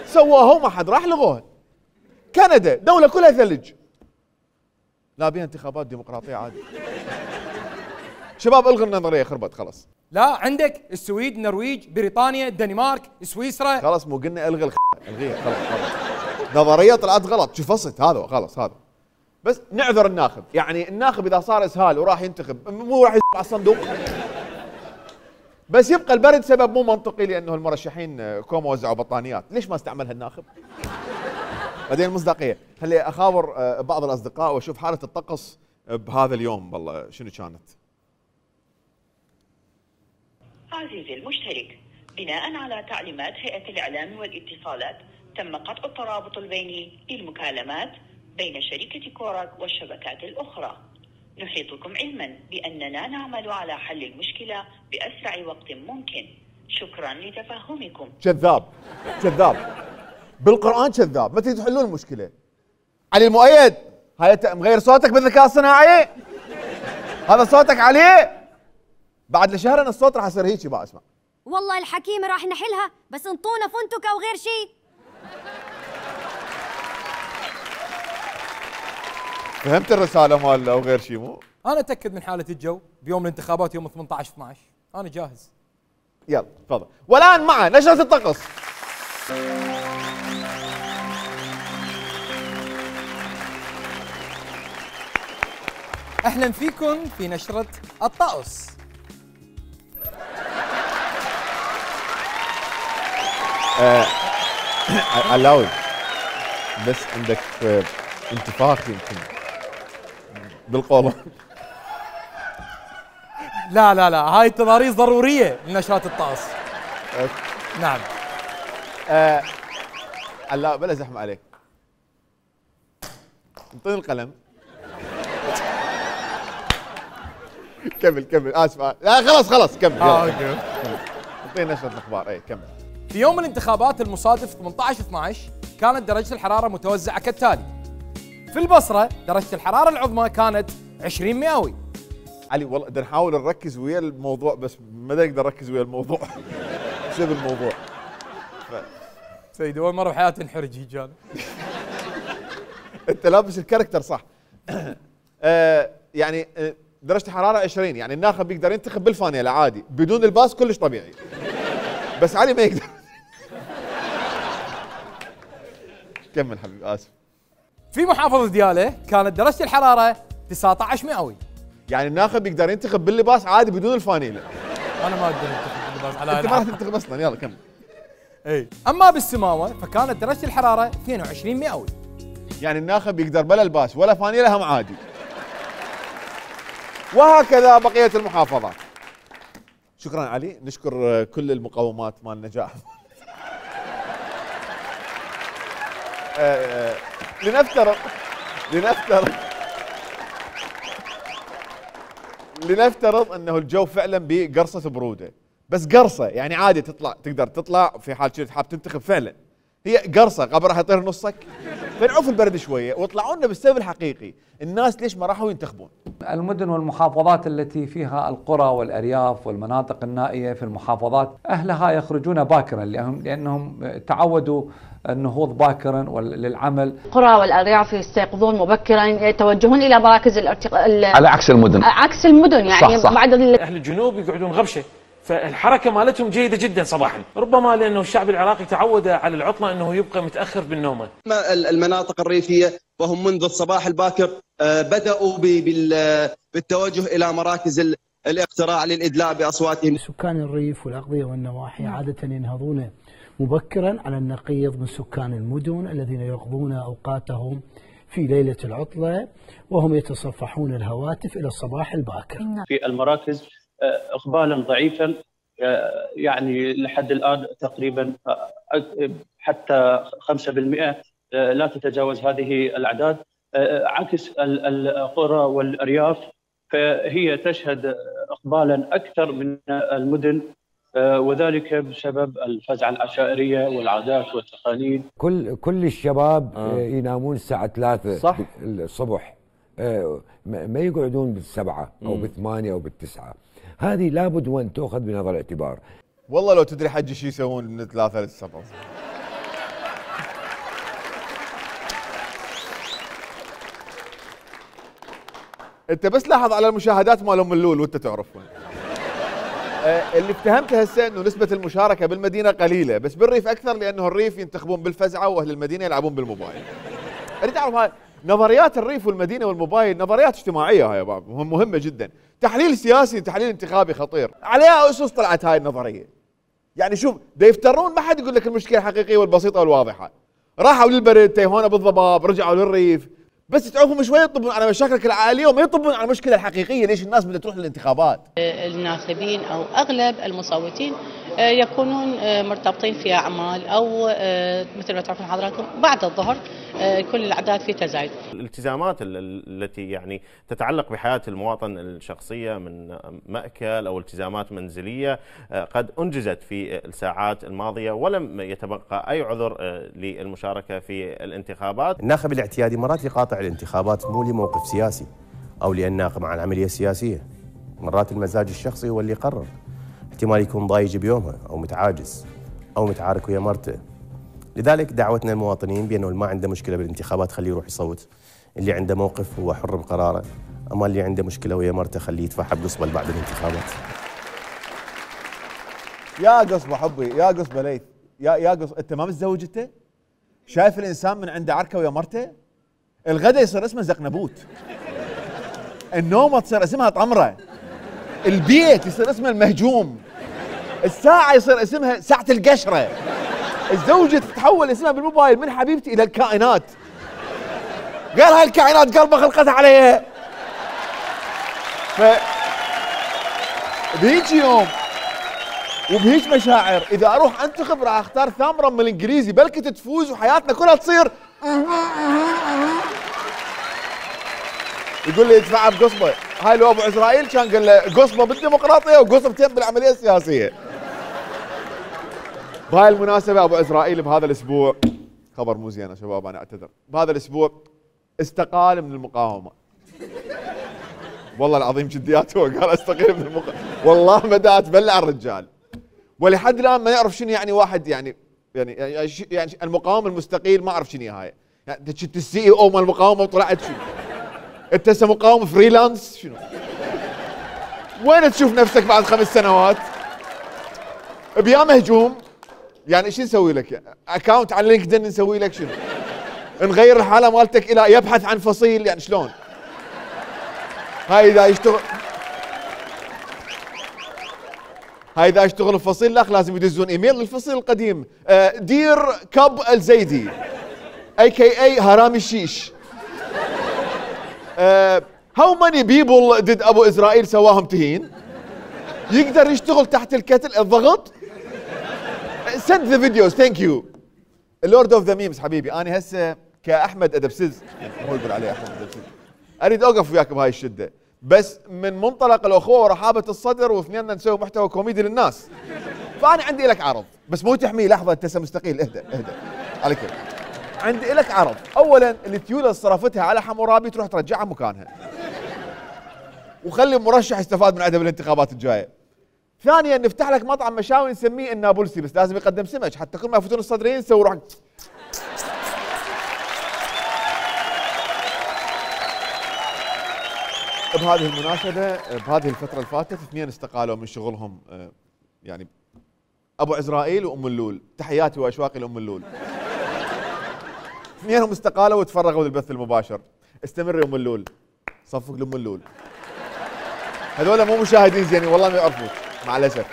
سووها وما حد راح لغوها. كندا دوله كلها ثلج لا بها انتخابات ديمقراطيه عادي. شباب الغوا النظريه خربت خلاص. لا عندك السويد، النرويج، بريطانيا، الدنمارك، سويسرا. خلاص مو قلنا الغي الخ... الغيها خلاص خلاص. نظريه طلعت غلط، شو فصلت هذا خلاص هذا. بس نعذر الناخب، يعني الناخب اذا صار اسهال وراح ينتخب مو راح يصير على الصندوق. بس يبقى البرد سبب مو منطقي لانه المرشحين كوم وزعوا بطانيات، ليش ما استعملها الناخب؟ بعدين المصداقيه، خلي اخابر بعض الاصدقاء واشوف حاله الطقس بهذا اليوم والله شنو كانت. عزيزي المشترك، بناء على تعليمات هيئة الإعلام والاتصالات تم قطع الترابط البيني للمكالمات بين شركة كوراك والشبكات الأخرى. نحيطكم علما بأننا نعمل على حل المشكلة بأسرع وقت ممكن. شكرا لتفهمكم. كذاب كذاب بالقرآن كذاب، متى تحلون المشكلة؟ علي المؤيد هاي مغير صوتك بالذكاء الصناعي؟ هذا صوتك عليه؟ بعد لشهرين الصوت راح يصير هيك بقى. اسمع والله الحكيمة راح نحلها، بس انطونا فندق أو غير شيء. فهمت الرسالة مال أو غير شيء مو؟ أنا أتأكد من حالة الجو بيوم الانتخابات يوم ثمانية عشر اثنا عشر، أنا جاهز. يلا تفضل. والآن مع نشرة الطقس. أهلا فيكم في نشرة الطقس. آه علاوي بس عندك انتفاخ يمكن بالقولة. لا لا لا، هاي التضاريس ضروريه لنشرات الطقس. نعم. آه لا بلا زحمه عليك. انطيني القلم. كمل كمل اسف. لا خلاص خلاص كمل. اه اوكي. انطيني نشرة الاخبار. اي كمل. في يوم الانتخابات المصادف ثمانية عشر اثنا عشر كانت درجه الحراره متوزعه كالتالي. في البصره درجه الحراره العظمى كانت عشرين مئوي. علي والله بدنا نحاول نركز ويا الموضوع بس ما نقدر نركز ويا الموضوع بسبب الموضوع. ف... سيدي اول مره بحياتي انحرج هيك انا. انت لابس الكاركتر صح. آه يعني درجه الحراره عشرين، يعني الناخب يقدر ينتخب بالفانيلا عادي بدون الباس كلش طبيعي. بس علي ما يقدر. كمل حبيبي اسف. في محافظه دياله كانت درجه الحراره تسعة عشر مئوي. يعني الناخب يقدر ينتخب باللباس عادي بدون الفانيلا. انا ما اقدر انتخب باللباس على انت ما راح تنتخب اصلا. يلا كمل. اي اما بالسماوه فكانت درجه الحراره اثنين وعشرين مئوي. يعني الناخب يقدر بلا الباس ولا فانيلا هم عادي. وهكذا بقيه المحافظات. شكرا علي، نشكر كل المقومات مال النجاح. آه لنفترض لنفترض لنفترض انه الجو فعلا بقرصه بروده، بس قرصه يعني عادي تطلع، تقدر تطلع في حال كنت حاب تنتخب فعلا. هي قرصه قبل راح يطير نصك. فنعوف البرد شويه واطلعوا لنا بالسبب الحقيقي، الناس ليش ما راحوا ينتخبون؟ المدن والمحافظات التي فيها القرى والارياف والمناطق النائيه في المحافظات اهلها يخرجون باكرا لانهم لانهم تعودوا النهوض باكرا للعمل. القرى والارياف يستيقظون مبكرا، يتوجهون الى مراكز الارتقاء على عكس المدن. عكس المدن يعني صح صح. بعد اهل الجنوب يقعدون غبشه، فالحركه مالتهم جيده جدا صباحا، ربما لانه الشعب العراقي تعود على العطله انه يبقى متاخر بالنومه. المناطق الريفيه وهم منذ الصباح الباكر بداوا بالتوجه الى مراكز الاقتراع للادلاء باصواتهم. سكان الريف والاقضيه والنواحي عاده ينهضون مبكرا على النقيض من سكان المدن الذين يقضون اوقاتهم في ليله العطله وهم يتصفحون الهواتف الى الصباح الباكر. في المراكز اقبالا ضعيفا، يعني لحد الان تقريبا حتى خمسة بالمئة لا تتجاوز هذه الاعداد، عكس القرى والارياف فهي تشهد اقبالا اكثر من المدن، وذلك بسبب الفزعه العشائريه والعادات والتقاليد. كل كل الشباب آه. ينامون الساعه ثلاثة صح الصبح، ما يقعدون بالسبعه او بالثمانيه او بالتسعه. هذه لابد وان تؤخذ بنظر الاعتبار. والله لو تدري حجي شو يسوون من ثلاثة للسبعة. انت بس لاحظ على المشاهدات مال ام اللول وانت تعرفون. آه اللي افتهمته هسه انه نسبة المشاركة بالمدينة قليلة، بس بالريف اكثر لانه الريف ينتخبون بالفزعة واهل المدينة يلعبون بالموبايل. اريد اعرف هاي نظريات الريف والمدينة والموبايل نظريات اجتماعية، هاي مهمة جدا، تحليل سياسي تحليل انتخابي خطير، عليها اسس طلعت هاي النظرية. يعني شوف دا يفترون ما حد يقول لك المشكلة الحقيقية والبسيطة والواضحة. راحوا للبرد تيهونا بالضباب، رجعوا للريف، بس تعرفون شوي يطبون على مشاكلك العائلية وما يطبون على المشكلة الحقيقية، ليش الناس بدها تروح للانتخابات؟ الناخبين او اغلب المصوتين يكونون مرتبطين في اعمال او مثل ما تعرفون حضراتكم بعد الظهر كل الاعداد في تزايد. الالتزامات التي يعني تتعلق بحياة المواطن الشخصية من مأكل او التزامات منزلية قد انجزت في الساعات الماضية ولم يتبقى اي عذر للمشاركة في الانتخابات. الناخب الاعتيادي مرات يقاطع الانتخابات مو لموقف سياسي او لانه مع العملية السياسية، مرات المزاج الشخصي هو اللي يقرر. احتمال يكون ضايج بيومها او متعاجز او متعارك ويا مرته. لذلك دعوتنا للمواطنين بانه اللي ما عنده مشكله بالانتخابات خليه يروح يصوت، اللي عنده موقف هو حر بقراره، اما اللي عنده مشكله ويا مرته خليه يدفع بقصبه بعد الانتخابات. يا قصبه حبي، يا قصبه ليث، يا يا قصبه انت ما متزوج انت؟ شايف الانسان من عنده عركه ويا مرته؟ الغداء يصير اسمه زقنبوت. النومه تصير اسمها طمره. البيت يصير اسمه المهجوم. الساعة يصير اسمها ساعة القشرة. الزوجة تتحول اسمها بالموبايل من حبيبتي إلى الكائنات. قال هاي الكائنات قلبه خلقتها عليها. ف بهيج يوم وبهيج مشاعر اذا اروح انتخب راح اختار ثامرا من الانجليزي، بلكي تفوز وحياتنا كلها تصير. يقول لي ادفعها بقصبه. هاي لو ابو عزرائيل كان قال له قصبه بالديمقراطيه وقصبتين بالعمليه السياسيه. بهاي المناسبه ابو عزرائيل بهذا الاسبوع، خبر مو زين يا شباب انا اعتذر، بهذا الاسبوع استقال من المقاومه. والله العظيم جديات هو قال استقيل من المقاومه، والله بدأ تبلع الرجال. ولحد الان ما يعرف شنو يعني واحد يعني يعني يعني, يعني المقاوم المستقيل، ما اعرف شنو هاي. يعني انت كنت السي اي او مال المقاومه وطلعت شنو؟ انت هسه مقاوم فريلانس شنو؟ وين تشوف نفسك بعد خمس سنوات؟ بيا مهجوم يعني شو نسوي لك؟ اكونت على لينكدين نسوي لك شنو؟ نغير الحاله مالتك الى يبحث عن فصيل، يعني شلون؟ هاي اذا يشتغل هاي اذا يشتغل الفصيل الاخ لازم يدزون ايميل للفصيل القديم. دير كب الزيدي اي كي اي هرامي الشيش. هاو ماني بيبل ديد ابو اسرائيل سواهم تهين؟ يقدر يشتغل تحت الكتل الضغط؟ سند ذا فيديوز ثانك يو. اللورد اوف ذا ميمز حبيبي، انا هسه كاحمد ادبسز، مو يقول عليه احمد ادبسز، اريد اوقف وياك بهاي الشده، بس من منطلق الاخوه ورحابه الصدر، واثنيننا نسوي محتوى كوميدي للناس. فانا عندي لك عرض، بس مو تحميه. لحظه انت هسه مستقيل، اهدى اهدى عليك. عندي لك عرض، اولا التيوله اللي صرفتها على حمورابي تروح ترجعها مكانها، وخلي مرشح يستفاد من عدم الانتخابات الجايه. ثانيا نفتح لك مطعم مشاوي نسميه النابلسي، بس لازم يقدم سمك حتى كل ما يفوتون الصدريين نسوي روح. بهذه المناسبة بهذه الفترة اللي فاتت اثنين استقالوا من شغلهم، يعني أبو عزرائيل وأم اللول. تحياتي وأشواقي لأم اللول. اثنينهم استقالوا وتفرغوا للبث المباشر. استمر يا أم اللول، صفق لأم اللول. هذول مو مشاهدين زينين والله ما يعرفوك مع الأسف.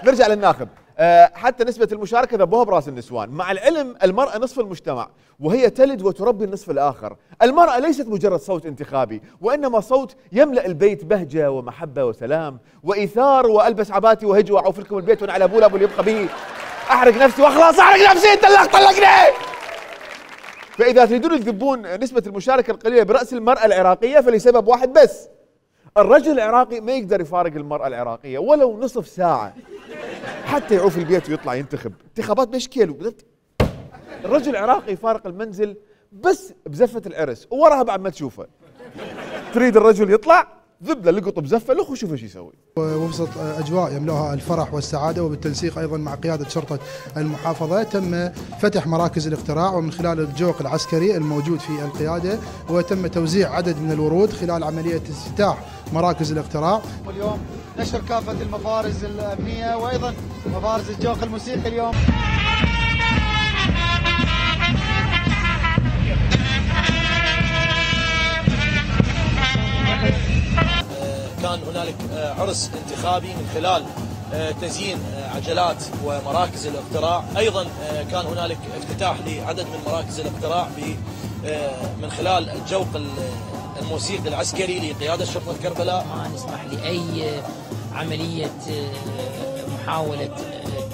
نرجع للناخب. أه حتى نسبة المشاركة ذبوها براس النسوان. مع العلم المرأة نصف المجتمع وهي تلد وتربي النصف الآخر. المرأة ليست مجرد صوت انتخابي، وإنما صوت يملأ البيت بهجة ومحبة وسلام وإيثار. وألبس عباتي وهج وأعوف لكم البيت وأنا على أبوه أبو اللي يبقى بيه. أحرق نفسي وأخلص، أحرق نفسي، انطلق طلقني. فإذا تريدون تذبون نسبة المشاركة القليلة برأس المرأة العراقية فلسبب واحد بس: الرجل العراقي ما يقدر يفارق المرأة العراقية ولو نصف ساعة حتى يعوف البيت ويطلع ينتخب. انتخابات بشكل. الرجل العراقي يفارق المنزل بس بزفة العرس ووراها بعد ما تشوفه. تريد الرجل يطلع ذب له لقط بزفه، لخ وشوف ايش يسوي. وبسط اجواء يملأها الفرح والسعاده، وبالتنسيق ايضا مع قياده شرطه المحافظه تم فتح مراكز الاقتراع ومن خلال الجوق العسكري الموجود في القياده، وتم توزيع عدد من الورود خلال عمليه افتتاح مراكز الاقتراع. واليوم نشر كافه المفارز الامنيه وايضا مفارز الجوق الموسيقي اليوم. كان هنالك عرس انتخابي من خلال تزيين عجلات ومراكز الاقتراع، ايضا كان هنالك افتتاح لعدد من مراكز الاقتراع من خلال الجوق الموسيقي العسكري لقياده شرطه كربلاء. ما نسمح لاي عمليه محاوله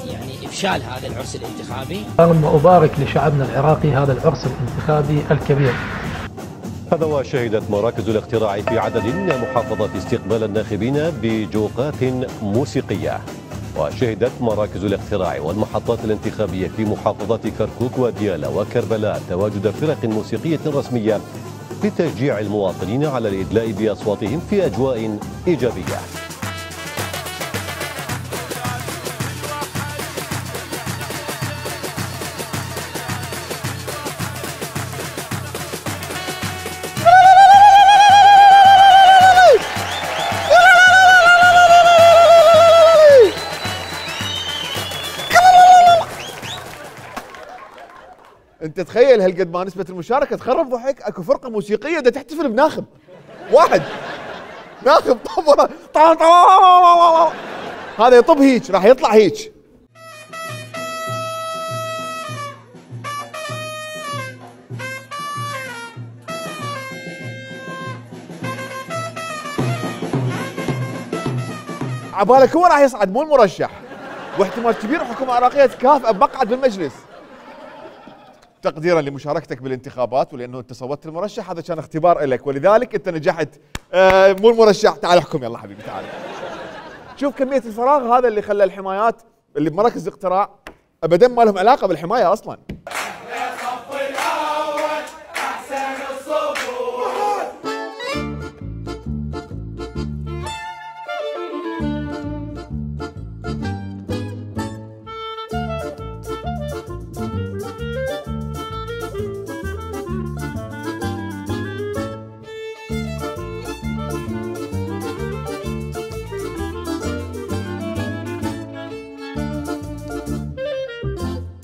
يعني افشال هذا العرس الانتخابي. وابارك لشعبنا العراقي هذا العرس الانتخابي الكبير. هذا وشهدت مراكز الاقتراع في عدد من المحافظات استقبال الناخبين بجوقات موسيقية. وشهدت مراكز الاقتراع والمحطات الانتخابية في محافظات كركوك وديالى وكربلاء تواجد فرق موسيقية رسمية لتشجيع المواطنين على الإدلاء بأصواتهم في أجواء إيجابية. انت تخيل هالقد ما نسبة المشاركة تخرب ضحك. اكو فرقة موسيقية دا تحتفل بناخب واحد، ناخب طب طب طب هذا يطب هيك راح يطلع هيك. عبالك هو راح يصعد مو المرشح، واحتمال كبير الحكومه العراقيه تكافئه بمقعد بالمجلس. تقديرا لمشاركتك بالانتخابات ولانه انت صوتت المرشح، هذا كان اختبار لك ولذلك انت نجحت. آه مو المرشح، تعال احكم يلا حبيبي تعال. شوف كميه الفراغ هذا اللي خلى الحمايات اللي بمراكز الاقتراع ابدا ما لهم علاقه بالحمايه اصلا.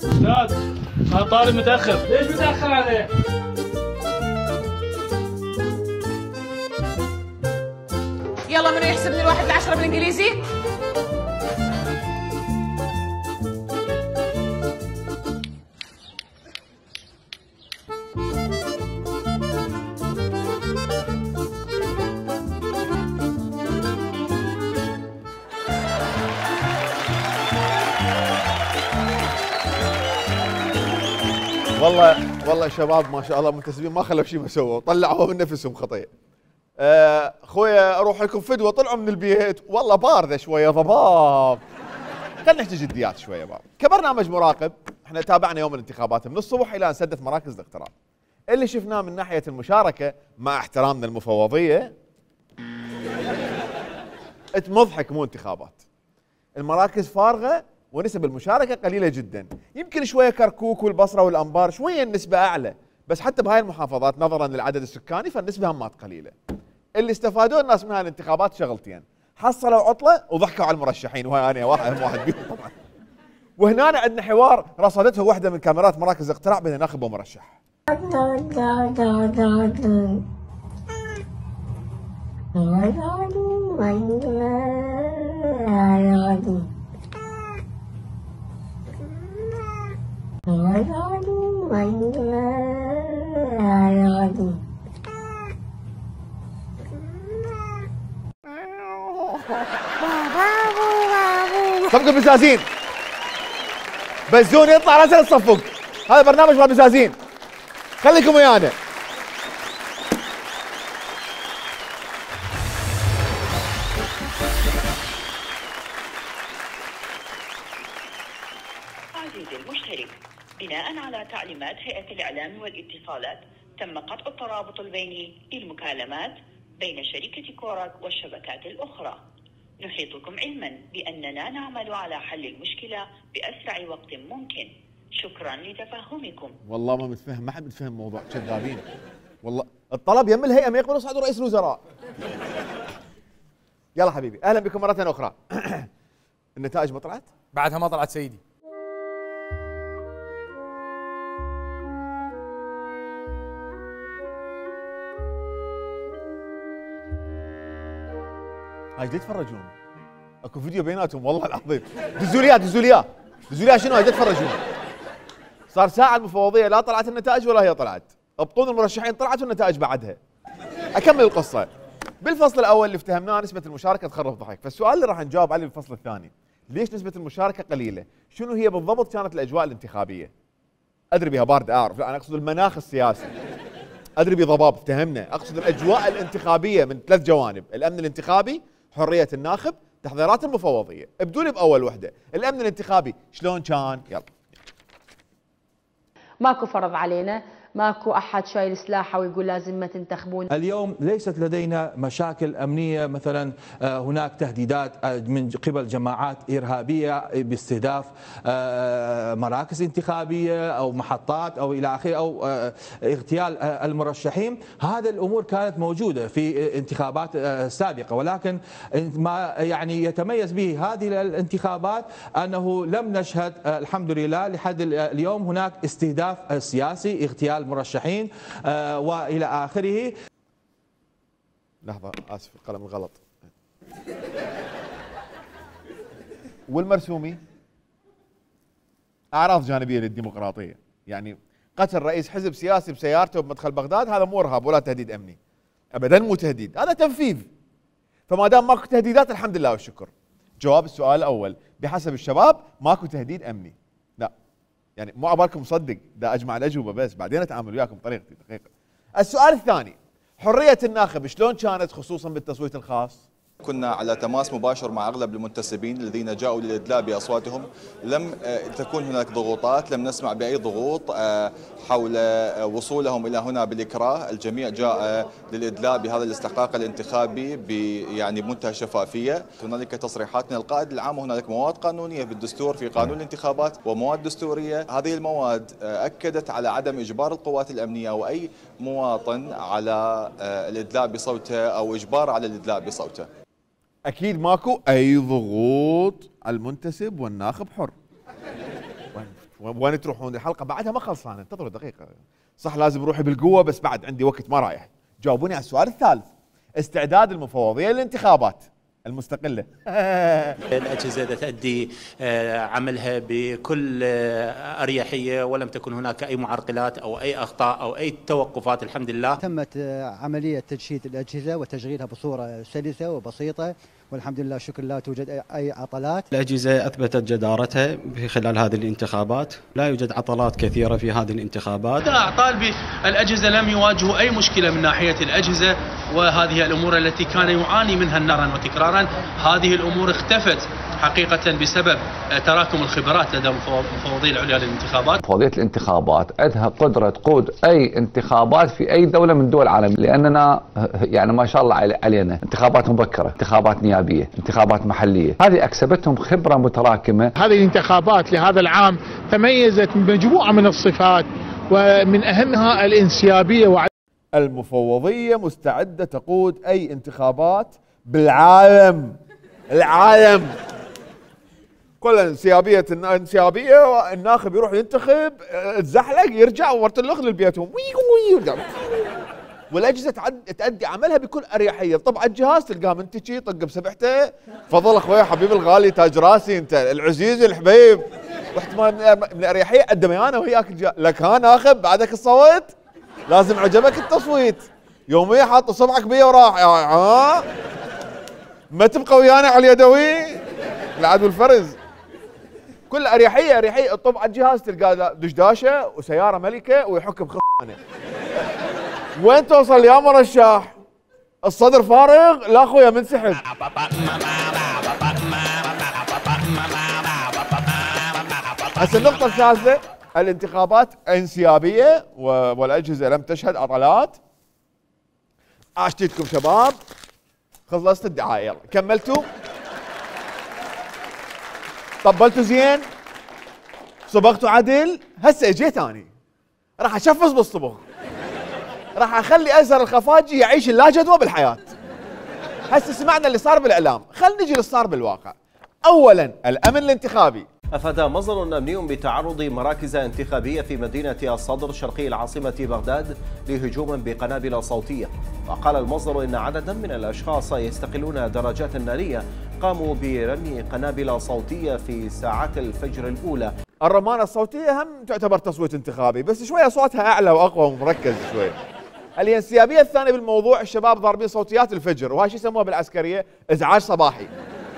استاذ انا طالب متاخر. ليش متاخر عليه؟ يلا منو يحسب من الواحد لعشرة بالانجليزي؟ والله والله شباب ما شاء الله منتسبين ما خلوا شيء ما سووا، طلعوا من نفسهم خطيه. اخويا اروح لكم فدوه، طلعوا من البيت والله بارده شويه ضباب. خلينا نحكي جديات شويه بابا. كبرنامج مراقب احنا تابعنا يوم الانتخابات من الصبح الى ان سدت مراكز الاقتراع. اللي شفناه من ناحيه المشاركه مع احترامنا المفوضيه مضحك مو انتخابات. المراكز فارغه ونسب المشاركه قليله جدا، يمكن شويه كركوك والبصره والانبار شويه النسبه اعلى، بس حتى بهاي المحافظات نظرا للعدد السكاني فالنسبه همات قليله. اللي استفادوا الناس من هاي الانتخابات شغلتين، حصلوا عطله وضحكوا على المرشحين، وهاي انا واحد هم واحد بيهم طبعا. وهنا عندنا حوار رصدته واحده من كاميرات مراكز الاقتراع بين ناخب ومرشح. صفقوا البزازين، بزون يطلع راسا تصفق. هذا برنامج مال بزازين، خليكم ويانا. عزيزي المشترك، بناء على تعليمات هيئة الإعلام والاتصالات تم قطع الترابط البيني للمكالمات بين شركة كوراك والشبكات الأخرى. نحيطكم علما بأننا نعمل على حل المشكلة بأسرع وقت ممكن. شكرا لتفهمكم. والله ما متفهم، ما حد متفهم موضوع كذابين. والله الطلب يم الهيئة ما يقبلوا يصعدوا رئيس الوزراء. يلا حبيبي أهلا بكم مرة أخرى. النتائج ما طلعت؟ بعدها ما طلعت سيدي. هاي يتفرجون، اكو فيديو بيناتهم والله العظيم. دزوا لي اياه دزوا لي اياه دزوا لي اياه شنو هاي يتفرجون. صار ساعه المفوضيه لا طلعت النتائج ولا هي طلعت، بطون المرشحين طلعت والنتائج بعدها. اكمل القصه. بالفصل الاول اللي افتهمناه نسبه المشاركه تخرف ضحك، فالسؤال اللي راح نجاوب عليه بالفصل الثاني، ليش نسبه المشاركه قليله؟ شنو هي بالضبط كانت الاجواء الانتخابيه؟ ادري بها بارده اعرف، لا انا اقصد المناخ السياسي. ادري بضباب افتهمنا، اقصد الاجواء الانتخابيه من ثلاث جوانب، الامن الانتخابي، حريه الناخب، تحضيرات المفوضيه. ابدوا لي باول وحده، الامن الانتخابي شلون كان؟ يلا. ماكو فرض علينا، ماكو احد شايل سلاحه ويقول لازم ما تنتخبون. اليوم ليست لدينا مشاكل امنيه، مثلا هناك تهديدات من قبل جماعات ارهابيه باستهداف مراكز انتخابيه او محطات او الى اخره او اغتيال المرشحين، هذه الامور كانت موجوده في انتخابات سابقه، ولكن ما يعني يتميز به هذه الانتخابات انه لم نشهد الحمد لله لحد اليوم هناك استهداف سياسي، اغتيال مرشحين آه والى اخره. لحظه اسف القلم الغلط. والمرسومي اعراض جانبيه للديمقراطيه، يعني قتل رئيس حزب سياسي بسيارته بمدخل بغداد هذا مو ارهاب ولا تهديد امني، ابدا مو تهديد، هذا تنفيذ. فما دام ماكو تهديدات الحمد لله والشكر. جواب السؤال الاول بحسب الشباب ماكو تهديد امني. لا يعني مو عبالكم مصدق، دا اجمع الاجوبه بس بعدين اتعامل وياكم بطريقتي دقيقه. السؤال الثاني، حريه الناخب شلون كانت خصوصا بالتصويت الخاص؟ كنا على تماس مباشر مع أغلب المنتسبين الذين جاءوا للإدلاء بأصواتهم. لم تكن هناك ضغوطات، لم نسمع بأي ضغوط حول وصولهم إلى هنا بالإكراه. الجميع جاء للإدلاء بهذا الاستحقاق الانتخابي يعني بمنتهى الشفافية. هنالك تصريحات من القائد العام، وهنالك مواد قانونية بالدستور في قانون الانتخابات ومواد دستورية. هذه المواد أكدت على عدم إجبار القوات الأمنية أو أي مواطن على الإدلاء بصوته أو إجبار على الإدلاء بصوته. اكيد ماكو اي ضغوط على المنتسب والناخب حر. وين وين تروحون؟ الحلقه بعدها ما خلصانه، انتظروا دقيقه. صح لازم روحي بالقوه بس بعد عندي وقت ما رايح. جاوبوني على السؤال الثالث، استعداد المفوضيه للانتخابات المستقله. الأجهزة تؤدي عملها بكل أريحية ولم تكن هناك أي معرقلات أو أي أخطاء أو أي توقفات الحمد لله. تمت عملية تجشيد الأجهزة وتشغيلها بصورة سلسة وبسيطة والحمد لله شكر لا توجد أي عطلات. الأجهزة أثبتت جدارتها في خلال هذه الانتخابات، لا يوجد عطلات كثيرة في هذه الانتخابات. طالبي الأجهزة لم يواجهوا أي مشكلة من ناحية الأجهزة، وهذه الأمور التي كان يعاني منها نرا وتكرارا هذه الأمور اختفت حقيقة بسبب تراكم الخبرات لدى المفوضية العليا للانتخابات. مفوضية الانتخابات عندها قدرة تقود أي انتخابات في أي دولة من دول العالم، لأننا يعني ما شاء الله علينا انتخابات مبكرة، انتخابات نيابية، انتخابات محلية، هذه أكسبتهم خبرة متراكمة. هذه الانتخابات لهذا العام تميزت بمجموعة من الصفات ومن أهمها الانسيابية. وع... المفوضية مستعدة تقود أي انتخابات بالعالم. العالم كلها انسيابية، انسيابية، الناخب يروح ينتخب تزحلق يرجع ورت الاخ للبيتهم ويرجع. والاجهزه تؤدي عملها بكل اريحيه. طبعا الجهاز تلقاه منتجي طق بسبحته، تفضل اخوي حبيبي الغالي تاج راسي انت العزيز الحبيب، واحتمال من الاريحيه الدميانه وياك لك ها ناخب بعدك الصوت لازم عجبك التصويت. يوميا حاط صبعك بيه وراح ها ما تبقى ويانا على اليدوي العدو الفرز. كل اريحيه اريحيه. طبعا الجهاز تلقاه دشداشه وسياره ملكه ويحك بخانه. وين توصل يا مرشح؟ الصدر فارغ؟ لا اخويا منسحب. هسه النقطة الثالثة، الانتخابات انسيابية والاجهزة لم تشهد عطلات. عاشتيتكم شباب، خلصت الدعاية يلا كملتوا؟ طبلتوا زين؟ صبغتوا عدل؟ هسه اجيت اني راح اشفص بالصبغ، راح اخلي ازهر الخفاجي يعيش اللا جدوى بالحياه. هسه سمعنا اللي صار بالاعلام، خلينا نجي اللي صار بالواقع. اولا الامن الانتخابي. افاد مصدر امني بتعرض مراكز انتخابيه في مدينه الصدر شرقي العاصمه بغداد لهجوم بقنابل صوتيه، وقال المصدر ان عددا من الاشخاص يستقلون درجات ناريه قاموا برمي قنابل صوتيه في ساعات الفجر الاولى. الرمانه الصوتيه هم تعتبر تصويت انتخابي بس شويه صوتها اعلى واقوى ومركز شويه. الانسيابيه الثانيه بالموضوع، الشباب ضاربين صوتيات الفجر، وهاي شو يسموها بالعسكريه؟ ازعاج صباحي.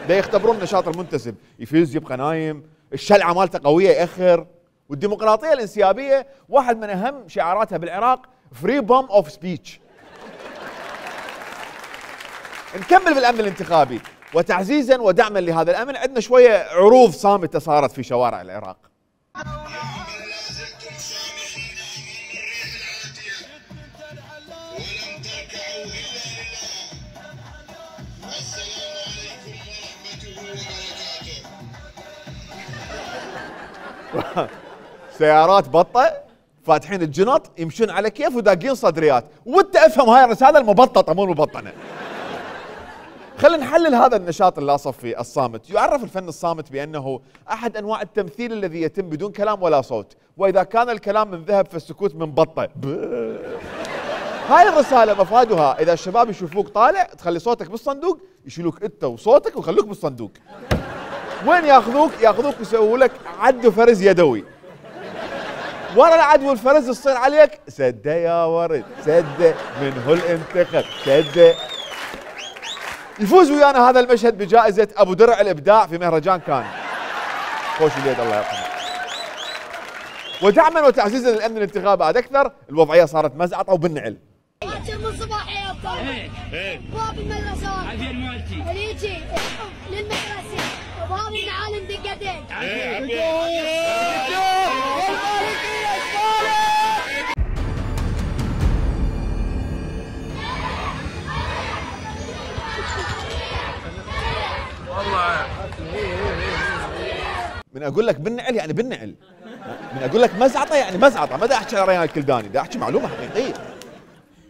دا يختبرون نشاط المنتسب، يفيز يبقى نايم، الشلعه مالته قويه ياخر. والديمقراطيه الانسيابيه واحد من اهم شعاراتها بالعراق فري بوم اوف سبيتش. نكمل بالامن الانتخابي، وتعزيزا ودعما لهذا الامن عندنا شويه عروض صامته صارت في شوارع العراق. سيارات بطه فاتحين الجنط يمشون على كيف وداقين صدريات، وانت افهم هاي الرساله المبططه مو المبطنه. خلينا نحلل هذا النشاط اللاصفي الصامت. يعرف الفن الصامت بانه احد انواع التمثيل الذي يتم بدون كلام ولا صوت، واذا كان الكلام من ذهب فالسكوت من بطه. هاي الرساله مفادها اذا الشباب يشوفوك طالع تخلي صوتك بالصندوق، يشيلوك انت وصوتك ويخلوك بالصندوق. وين ياخذوك؟ ياخذوك يسووا لك عد فرز يدوي. ورا العد والفرز تصير عليك سده يا ورد سده من هو الانتخاب سده. يفوز ويانا هذا المشهد بجائزة أبو درع الإبداع في مهرجان كان. خوش اليد الله يرحمه. ودعما وتعزيزا للأمن الانتخابي بعد أكثر، الوضعية صارت مزعطة وبالنعل. من صباح يا ابطال. باب المدرسة. عفير مالتي. ريجي للمدرسة وباب المعالم دقتين. من اقول لك بالنعل يعني بالنعل، من اقول لك مزعطه يعني مزعطه، ما دا احكي على ريان الكلداني، دا احكي معلومه حقيقيه.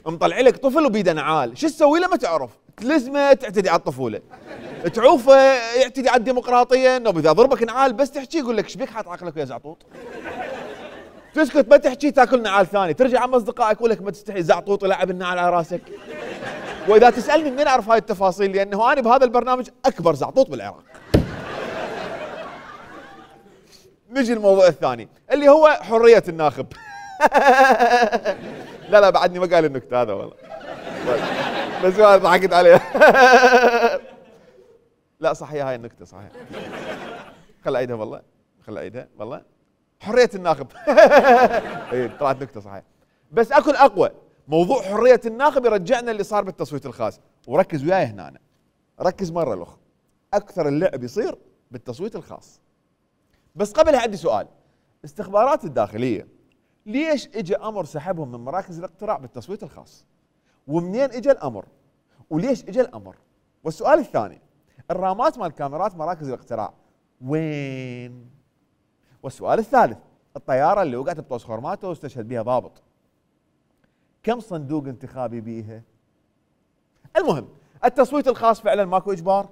مطلع لك طفل وبيده نعال، شو تسوي له ما تعرف، تلزمه تعتدي على الطفوله، تعوفه يعتدي على الديمقراطيه، انه اذا ضربك نعال بس تحكي يقول لك ايش بيك حاط عقلك يا زعطوط؟ تسكت ما تحكي تاكل نعال ثاني، ترجع عم اصدقائك يقول لك ما تستحي زعطوط يلعب النعال على راسك. واذا تسالني منين اعرف هاي التفاصيل؟ لانه انا بهذا البرنامج اكبر زعطوط بالعراق. نجي الموضوع الثاني اللي هو حرية الناخب. لا لا بعدني ما قال النكتة هذا والله. بس ما ضحكت عليه. لا صحيح هاي النكتة صحيح. خل اعيدها والله. خل اعيدها والله. حرية الناخب. اي طلعت نكتة صحيح. بس اكو اقوى، موضوع حرية الناخب يرجعنا اللي صار بالتصويت الخاص، وركز وياي هنا أنا. ركز مرة الأخرى. أكثر اللعب يصير بالتصويت الخاص. بس قبلها عندي سؤال. استخبارات الداخلية ليش اجى امر سحبهم من مراكز الاقتراع بالتصويت الخاص؟ ومنين اجى الامر؟ وليش اجى الامر؟ والسؤال الثاني، الرامات مال كاميرات مراكز الاقتراع وين؟ والسؤال الثالث، الطيارة اللي وقعت بطوس خورماته واستشهد بها ضابط كم صندوق انتخابي بيها؟ المهم التصويت الخاص فعلا ماكو اجبار،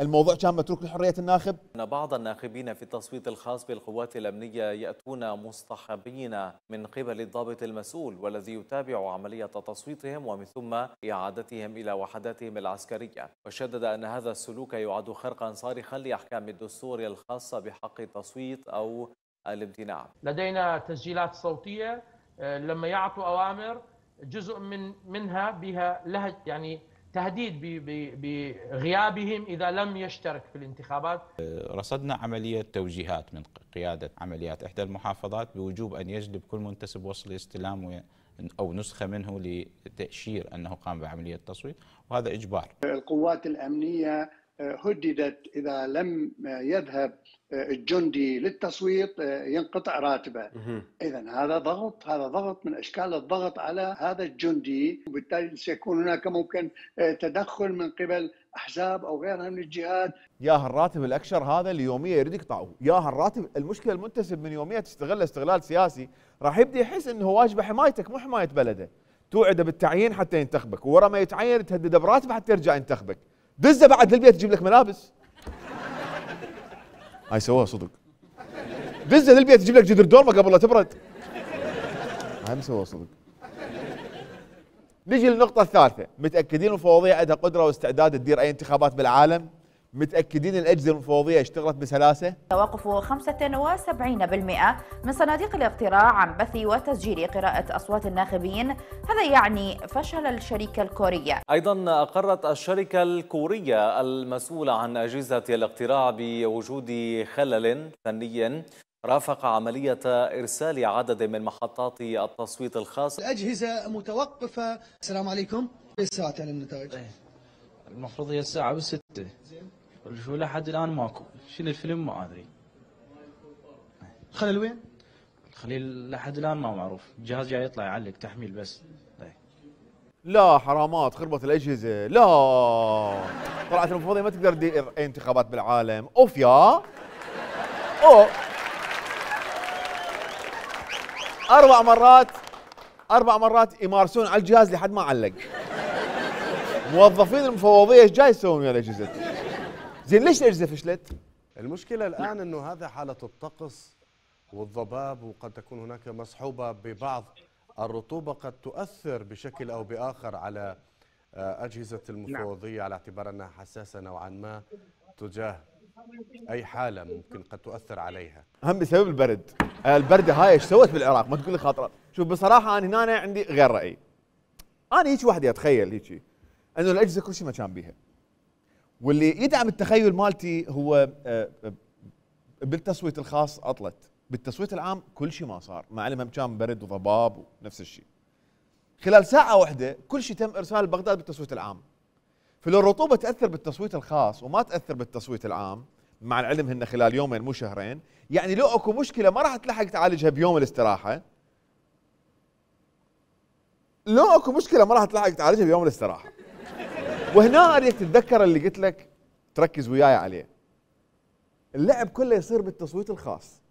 الموضوع كان متروك لحرية الناخب. أن بعض الناخبين في التصويت الخاص بالقوات الأمنية يأتون مصطحبين من قبل الضابط المسؤول والذي يتابع عملية تصويتهم ومن ثم إعادتهم إلى وحداتهم العسكرية، وشدد أن هذا السلوك يعد خرقا صارخا لأحكام الدستور الخاصة بحق التصويت أو الامتناع. لدينا تسجيلات صوتية لما يعطوا أوامر جزء من منها بها لها يعني تهديد بغيابهم إذا لم يشترك في الانتخابات. رصدنا عملية توجيهات من قيادة عمليات إحدى المحافظات بوجوب أن يجلب كل منتسب وصل استلام أو نسخة منه لتأشير أنه قام بعملية تصويت، وهذا إجبار. القوات الأمنية هددت إذا لم يذهب الجندي للتصويت ينقطع راتبه. إذن هذا ضغط، هذا ضغط من أشكال الضغط على هذا الجندي، وبالتالي سيكون هناك ممكن تدخل من قبل أحزاب أو غيرها من الجهات. يا هالراتب الأكشر هذا اللي يوميا يريد يقطعه، يا هالراتب. المشكلة المنتسب من يوميا تستغل استغلال سياسي، راح يبدأ يحس أنه واجبه حمايتك مو حماية بلده. توعده بالتعيين حتى ينتخبك، ورا ما يتعين تهدده براتب حتى يرجع ينتخبك. دزه بعد للبيت تجيب لك ملابس. هاي سووها صدق. دزه للبيت تجيب لك جدر دورمه قبل لا تبرد. هاي مسووها صدق. نجي للنقطة الثالثة، متأكدين المفوضية عندها قدرة واستعداد تدير أي انتخابات بالعالم؟ متأكدين الأجهزة المفوضية اشتغلت بسلاسة؟ توقف خمسة وسبعين بالمئة من صناديق الاقتراع عن بث وتسجيل قراءة أصوات الناخبين، هذا يعني فشل الشركة الكورية. أيضا أقرت الشركة الكورية المسؤولة عن أجهزة الاقتراع بوجود خلل فني رافق عملية إرسال عدد من محطات التصويت الخاص. الأجهزة متوقفة. السلام عليكم. ايش ساعة على النتائج؟ المفروض هي الساعة بالستة. شو لحد الآن ماكو. شنو الفيلم ما أدري. الخلل وين؟ الخليل لحد الآن ما معروف. الجهاز جاي يطلع يعلق تحميل بس. لا حرامات، خربت الأجهزة، لا طلعت المفوضية ما تقدر تدير أي انتخابات بالعالم. أوف يا أوف. أربع مرات أربع مرات يمارسون على الجهاز لحد ما علق. موظفين المفوضية ايش جاي يسوون ويا الأجهزة؟ زين ليش الأجهزة فشلت؟ المشكلة الآن أنه هذا حالة الطقس والضباب، وقد تكون هناك مصحوبة ببعض الرطوبة قد تؤثر بشكل أو بآخر على أجهزة المفوضية، على اعتبار أنها حساسة نوعا ما تجاه أي حالة ممكن قد تؤثر عليها. هم بسبب البرد. البردة هاي ايش سوت بالعراق؟ ما تقول لي خاطرة. شوف بصراحة أنا هنا عندي غير رأي. أنا هيك وحدي أتخيل هيك إنه الأجهزة كل شيء ما كان بيها. واللي يدعم التخيل مالتي هو بالتصويت الخاص عطلت، بالتصويت العام كل شيء ما صار، مع العلم كان برد وضباب ونفس الشيء. خلال ساعة واحدة كل شيء تم ارسال بغداد بالتصويت العام. فلو الرطوبة تأثر بالتصويت الخاص وما تأثر بالتصويت العام، مع العلم هن خلال يومين مو شهرين، يعني لو اكو مشكلة ما راح تلحق تعالجها بيوم الاستراحة. لو اكو مشكلة ما راح تلحق تعالجها بيوم الاستراحة. وهنا اريد تتذكر اللي قلت لك تركز وياي عليه. اللعب كله يصير بالتصويت الخاص.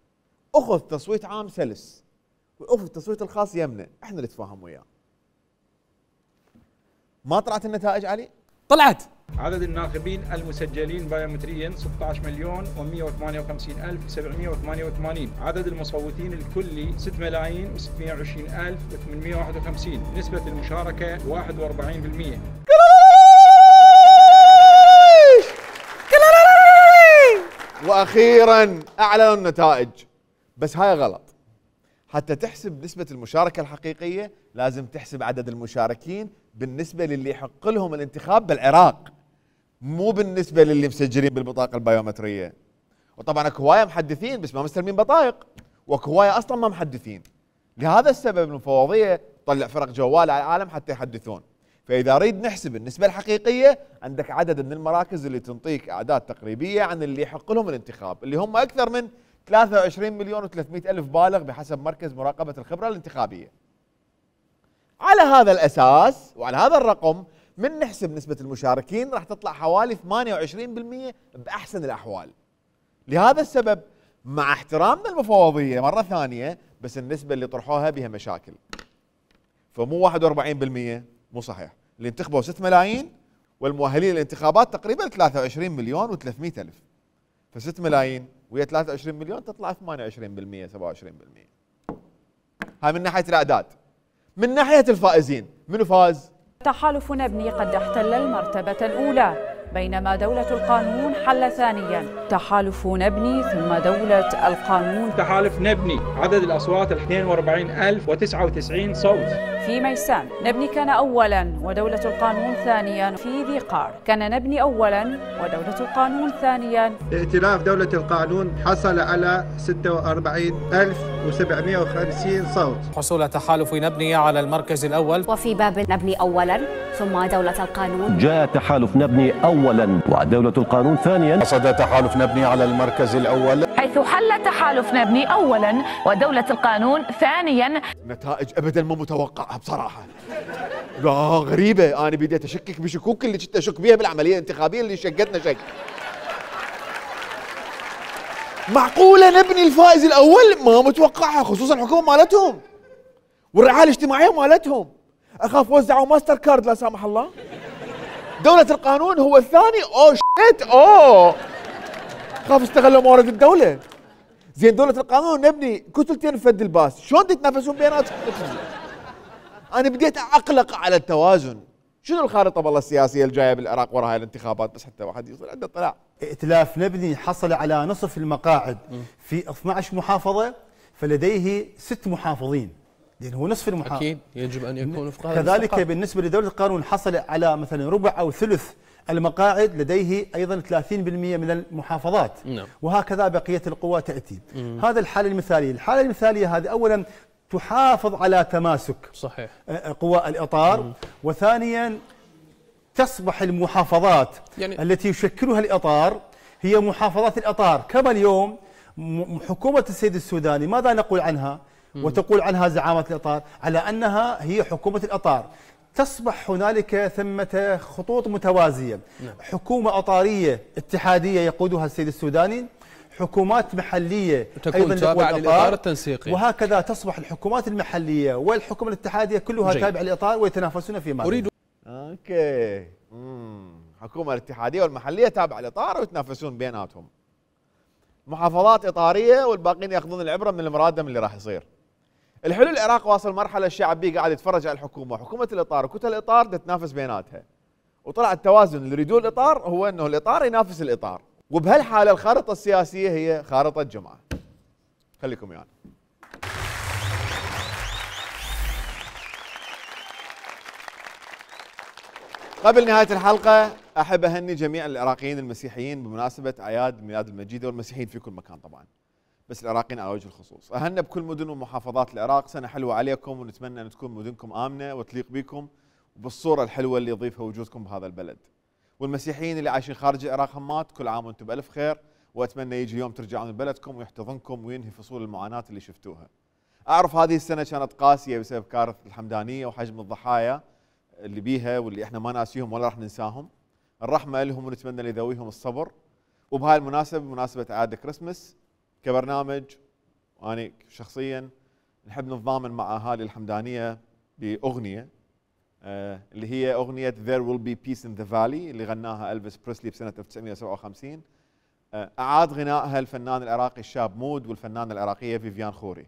اخذ تصويت عام سلس واخذ التصويت الخاص يمنه، احنا اللي نتفاهم وياه. ما طلعت النتائج علي؟ طلعت. عدد الناخبين المسجلين بايومتريا ستة عشر مليون ومئة وثمانية وخمسين ألف وسبعمئة وثمانية وثمانين. عدد المصوتين الكلي ستة ملايين وستمئة وعشرين ألف وثمانمئة وواحد وخمسين. نسبة المشاركة واحد وأربعين بالمئة. واخيرا اعلنوا النتائج، بس هاي غلط. حتى تحسب نسبة المشاركة الحقيقية لازم تحسب عدد المشاركين بالنسبة للي يحق لهم الانتخاب بالعراق، مو بالنسبة للي مسجلين بالبطاقة البيومترية. وطبعا اكو هواية محدثين بس ما مستلمين بطايق، واكو هواية اصلا ما محدثين. لهذا السبب المفوضية تطلع فرق جوال على العالم حتى يحدثون. فاذا نريد نحسب النسبة الحقيقية، عندك عدد من المراكز اللي تنطيك اعداد تقريبية عن اللي يحق لهم الانتخاب، اللي هم اكثر من ثلاثة وعشرين مليون وثلاثمئة ألف بالغ بحسب مركز مراقبة الخبرة الانتخابية. على هذا الأساس وعلى هذا الرقم من نحسب نسبة المشاركين راح تطلع حوالي ثمانية وعشرين بالمئة بأحسن الأحوال. لهذا السبب مع احترامنا المفوضية مرة ثانية، بس النسبة اللي طرحوها بها مشاكل. فمو واحد وأربعين بالمئة، مو صحيح. اللي انتخبوا ستة ملايين والمؤهلين للانتخابات تقريبا ثلاثة وعشرين مليون وثلاثمئة ألف. فستة ملايين ويا ثلاثة وعشرين مليون تطلع ثمانية وعشرين بالمئة سبعة وعشرين بالمئة. هاي من ناحية الأعداد. من ناحية الفائزين، منو فاز؟ تحالف نبني قد احتل المرتبة الأولى، بينما دولة القانون حل ثانيا. تحالف نبني ثم دولة القانون. تحالف نبني عدد الأصوات اثنين وأربعين ألف وتسعة وتسعين صوت. في ميسان نبني كان أولا ودولة القانون ثانيا. في ذي قار كان نبني أولا ودولة القانون ثانيا. ائتلاف دولة القانون حصل على ستة وأربعين ألف وسبعمئة وخمسين صوت. حصول تحالف نبني على المركز الأول. وفي باب نبني أولا ثم دولة القانون. جاء تحالف نبني أولا ودولة القانون ثانيا. حصد تحالف نبني على المركز الأول، حيث حل تحالف نبني أولا ودولة القانون ثانيا. نتائج أبدا ما متوقعة بصراحة. لا غريبة، أنا بديت أشكك بشكوك اللي كنت أشك بيها بالعملية الانتخابية اللي شقتنا شك. معقولة نبني الفائز الأول؟ ما متوقعها، خصوصا الحكومة مالتهم والرعاية الاجتماعية مالتهم. أخاف وزعوا ماستر كارد لا سامح الله. دولة القانون هو الثاني. أوه شيت أوه خاف استغلوا موارد الدولة. زين دولة القانون نبني كتلتين فد الباس، شلون تتنافسون بيناتهم؟ أنا بديت أقلق على التوازن. شنو الخارطة بالله السياسية الجاية بالعراق وراء هاي الانتخابات؟ بس حتى واحد يصير عنده اطلاع. ائتلاف نبني حصل على نصف المقاعد في اثني عشر محافظة، فلديه ست محافظين، لأن هو نصف المحافظة. أكيد يجب أن يكون وفق هذا كذلك الاستقرار. بالنسبة لدولة القانون حصل على مثلا ربع أو ثلث المقاعد، لديه أيضا ثلاثين بالمئة من المحافظات. نعم. وهكذا بقية القوى تأتي. مم. هذا الحالة المثالية. الحالة المثالية هذه أولا تحافظ على تماسك صحيح قوى الإطار. مم. وثانيا تصبح المحافظات يعني التي يشكلها الإطار هي محافظات الإطار. كما اليوم حكومة السيد السوداني ماذا نقول عنها؟ مم. وتقول عنها زعامة الإطار على أنها هي حكومة الإطار. تصبح هنالك ثمة خطوط متوازية. نعم. حكومة أطارية اتحادية يقودها السيد السوداني، حكومات محلية تكون تابعة للإطار التنسيقي، وهكذا تصبح الحكومات المحلية والحكومة الاتحادية كلها تابعة للإطار ويتنافسون فيما أريد اوكي امم الحكومة الاتحادية والمحلية تابعة للإطار ويتنافسون بيناتهم. محافظات إطارية والباقيين ياخذون العبرة من المرادم اللي راح يصير. الحلو العراق واصل مرحلة الشعب بيه قاعد يتفرج على الحكومة، حكومة الإطار وكتل الإطار تتنافس بيناتها. وطلع التوازن اللي يريدوه الإطار هو انه الإطار ينافس الإطار، وبهالحالة الخارطة السياسية هي خارطة جمعة. خليكم يعني. قبل نهاية الحلقة احب اهني جميع العراقيين المسيحيين بمناسبه اعياد ميلاد المجيده، والمسيحيين في كل مكان طبعا، بس العراقيين على وجه الخصوص. اهنى بكل مدن ومحافظات العراق، سنه حلوه عليكم، ونتمنى ان تكون مدنكم امنه وتليق بكم وبالصوره الحلوه اللي يضيفها وجودكم بهذا البلد. والمسيحيين اللي عايشين خارج العراق همات، كل عام وانتم بالف خير، واتمنى يجي يوم ترجعون لبلدكم ويحتضنكم وينهي فصول المعاناه اللي شفتوها. اعرف هذه السنه كانت قاسيه بسبب كارثه الحمدانيه وحجم الضحايا اللي بيها واللي احنا ما ناسيهم ولا راح ننساهم. الرحمه لهم ونتمنى لذويهم الصبر. وبهاي المناسبه بمناسبه اعياد كريسمس كبرنامج وانا شخصيا نحب نتضامن مع اهالي الحمدانيه باغنيه آه اللي هي اغنيه There Will Be Peace in the Valley اللي غناها ألفيس بريسلي بسنه ألف وتسعمئة وسبعة وخمسين. آه اعاد غنائها الفنان العراقي الشاب مود والفنانه العراقيه فيفيان خوري.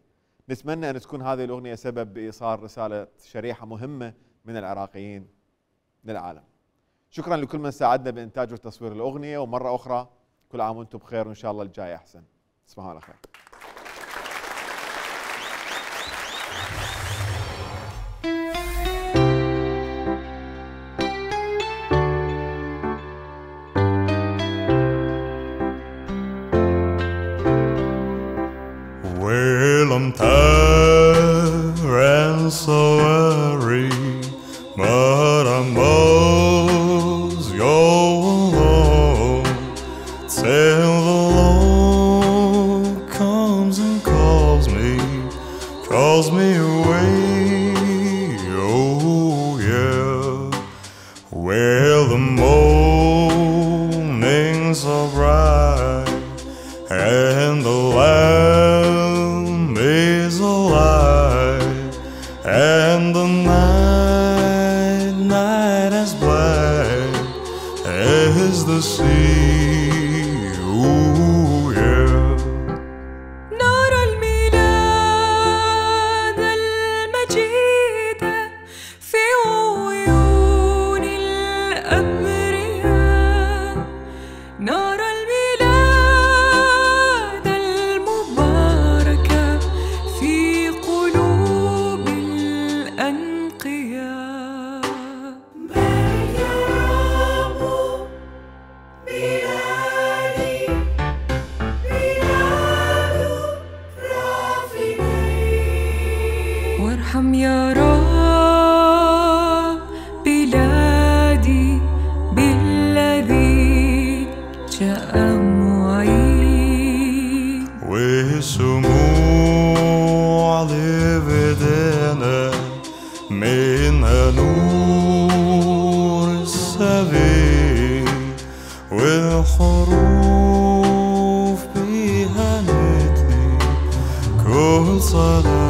نتمنى ان تكون هذه الاغنيه سبب بايصال رساله شريحه مهمه من العراقيين للعالم. شكرا لكل من ساعدنا بانتاج وتصوير الاغنيه، ومره اخرى كل عام وانتم بخير، وان شاء الله الجاي احسن. تصبحوا على خير. Well, I'm tired and so weary, but I must go along till the Lord comes and calls me, calls me away. Oh yeah. Well, the mornings are bright and the land is alive, and the night, night as black as the sea. Ooh, yeah. نرى الميلاد المجيد في عيون الأبرياء، نرى الميلاد المبارك في قلوب الأنقياء. وارحم يا رب بلادي بالذي جاء معين. وسموع لبدنا منها نور السبيل، والحروف بها نتلي كل صلاة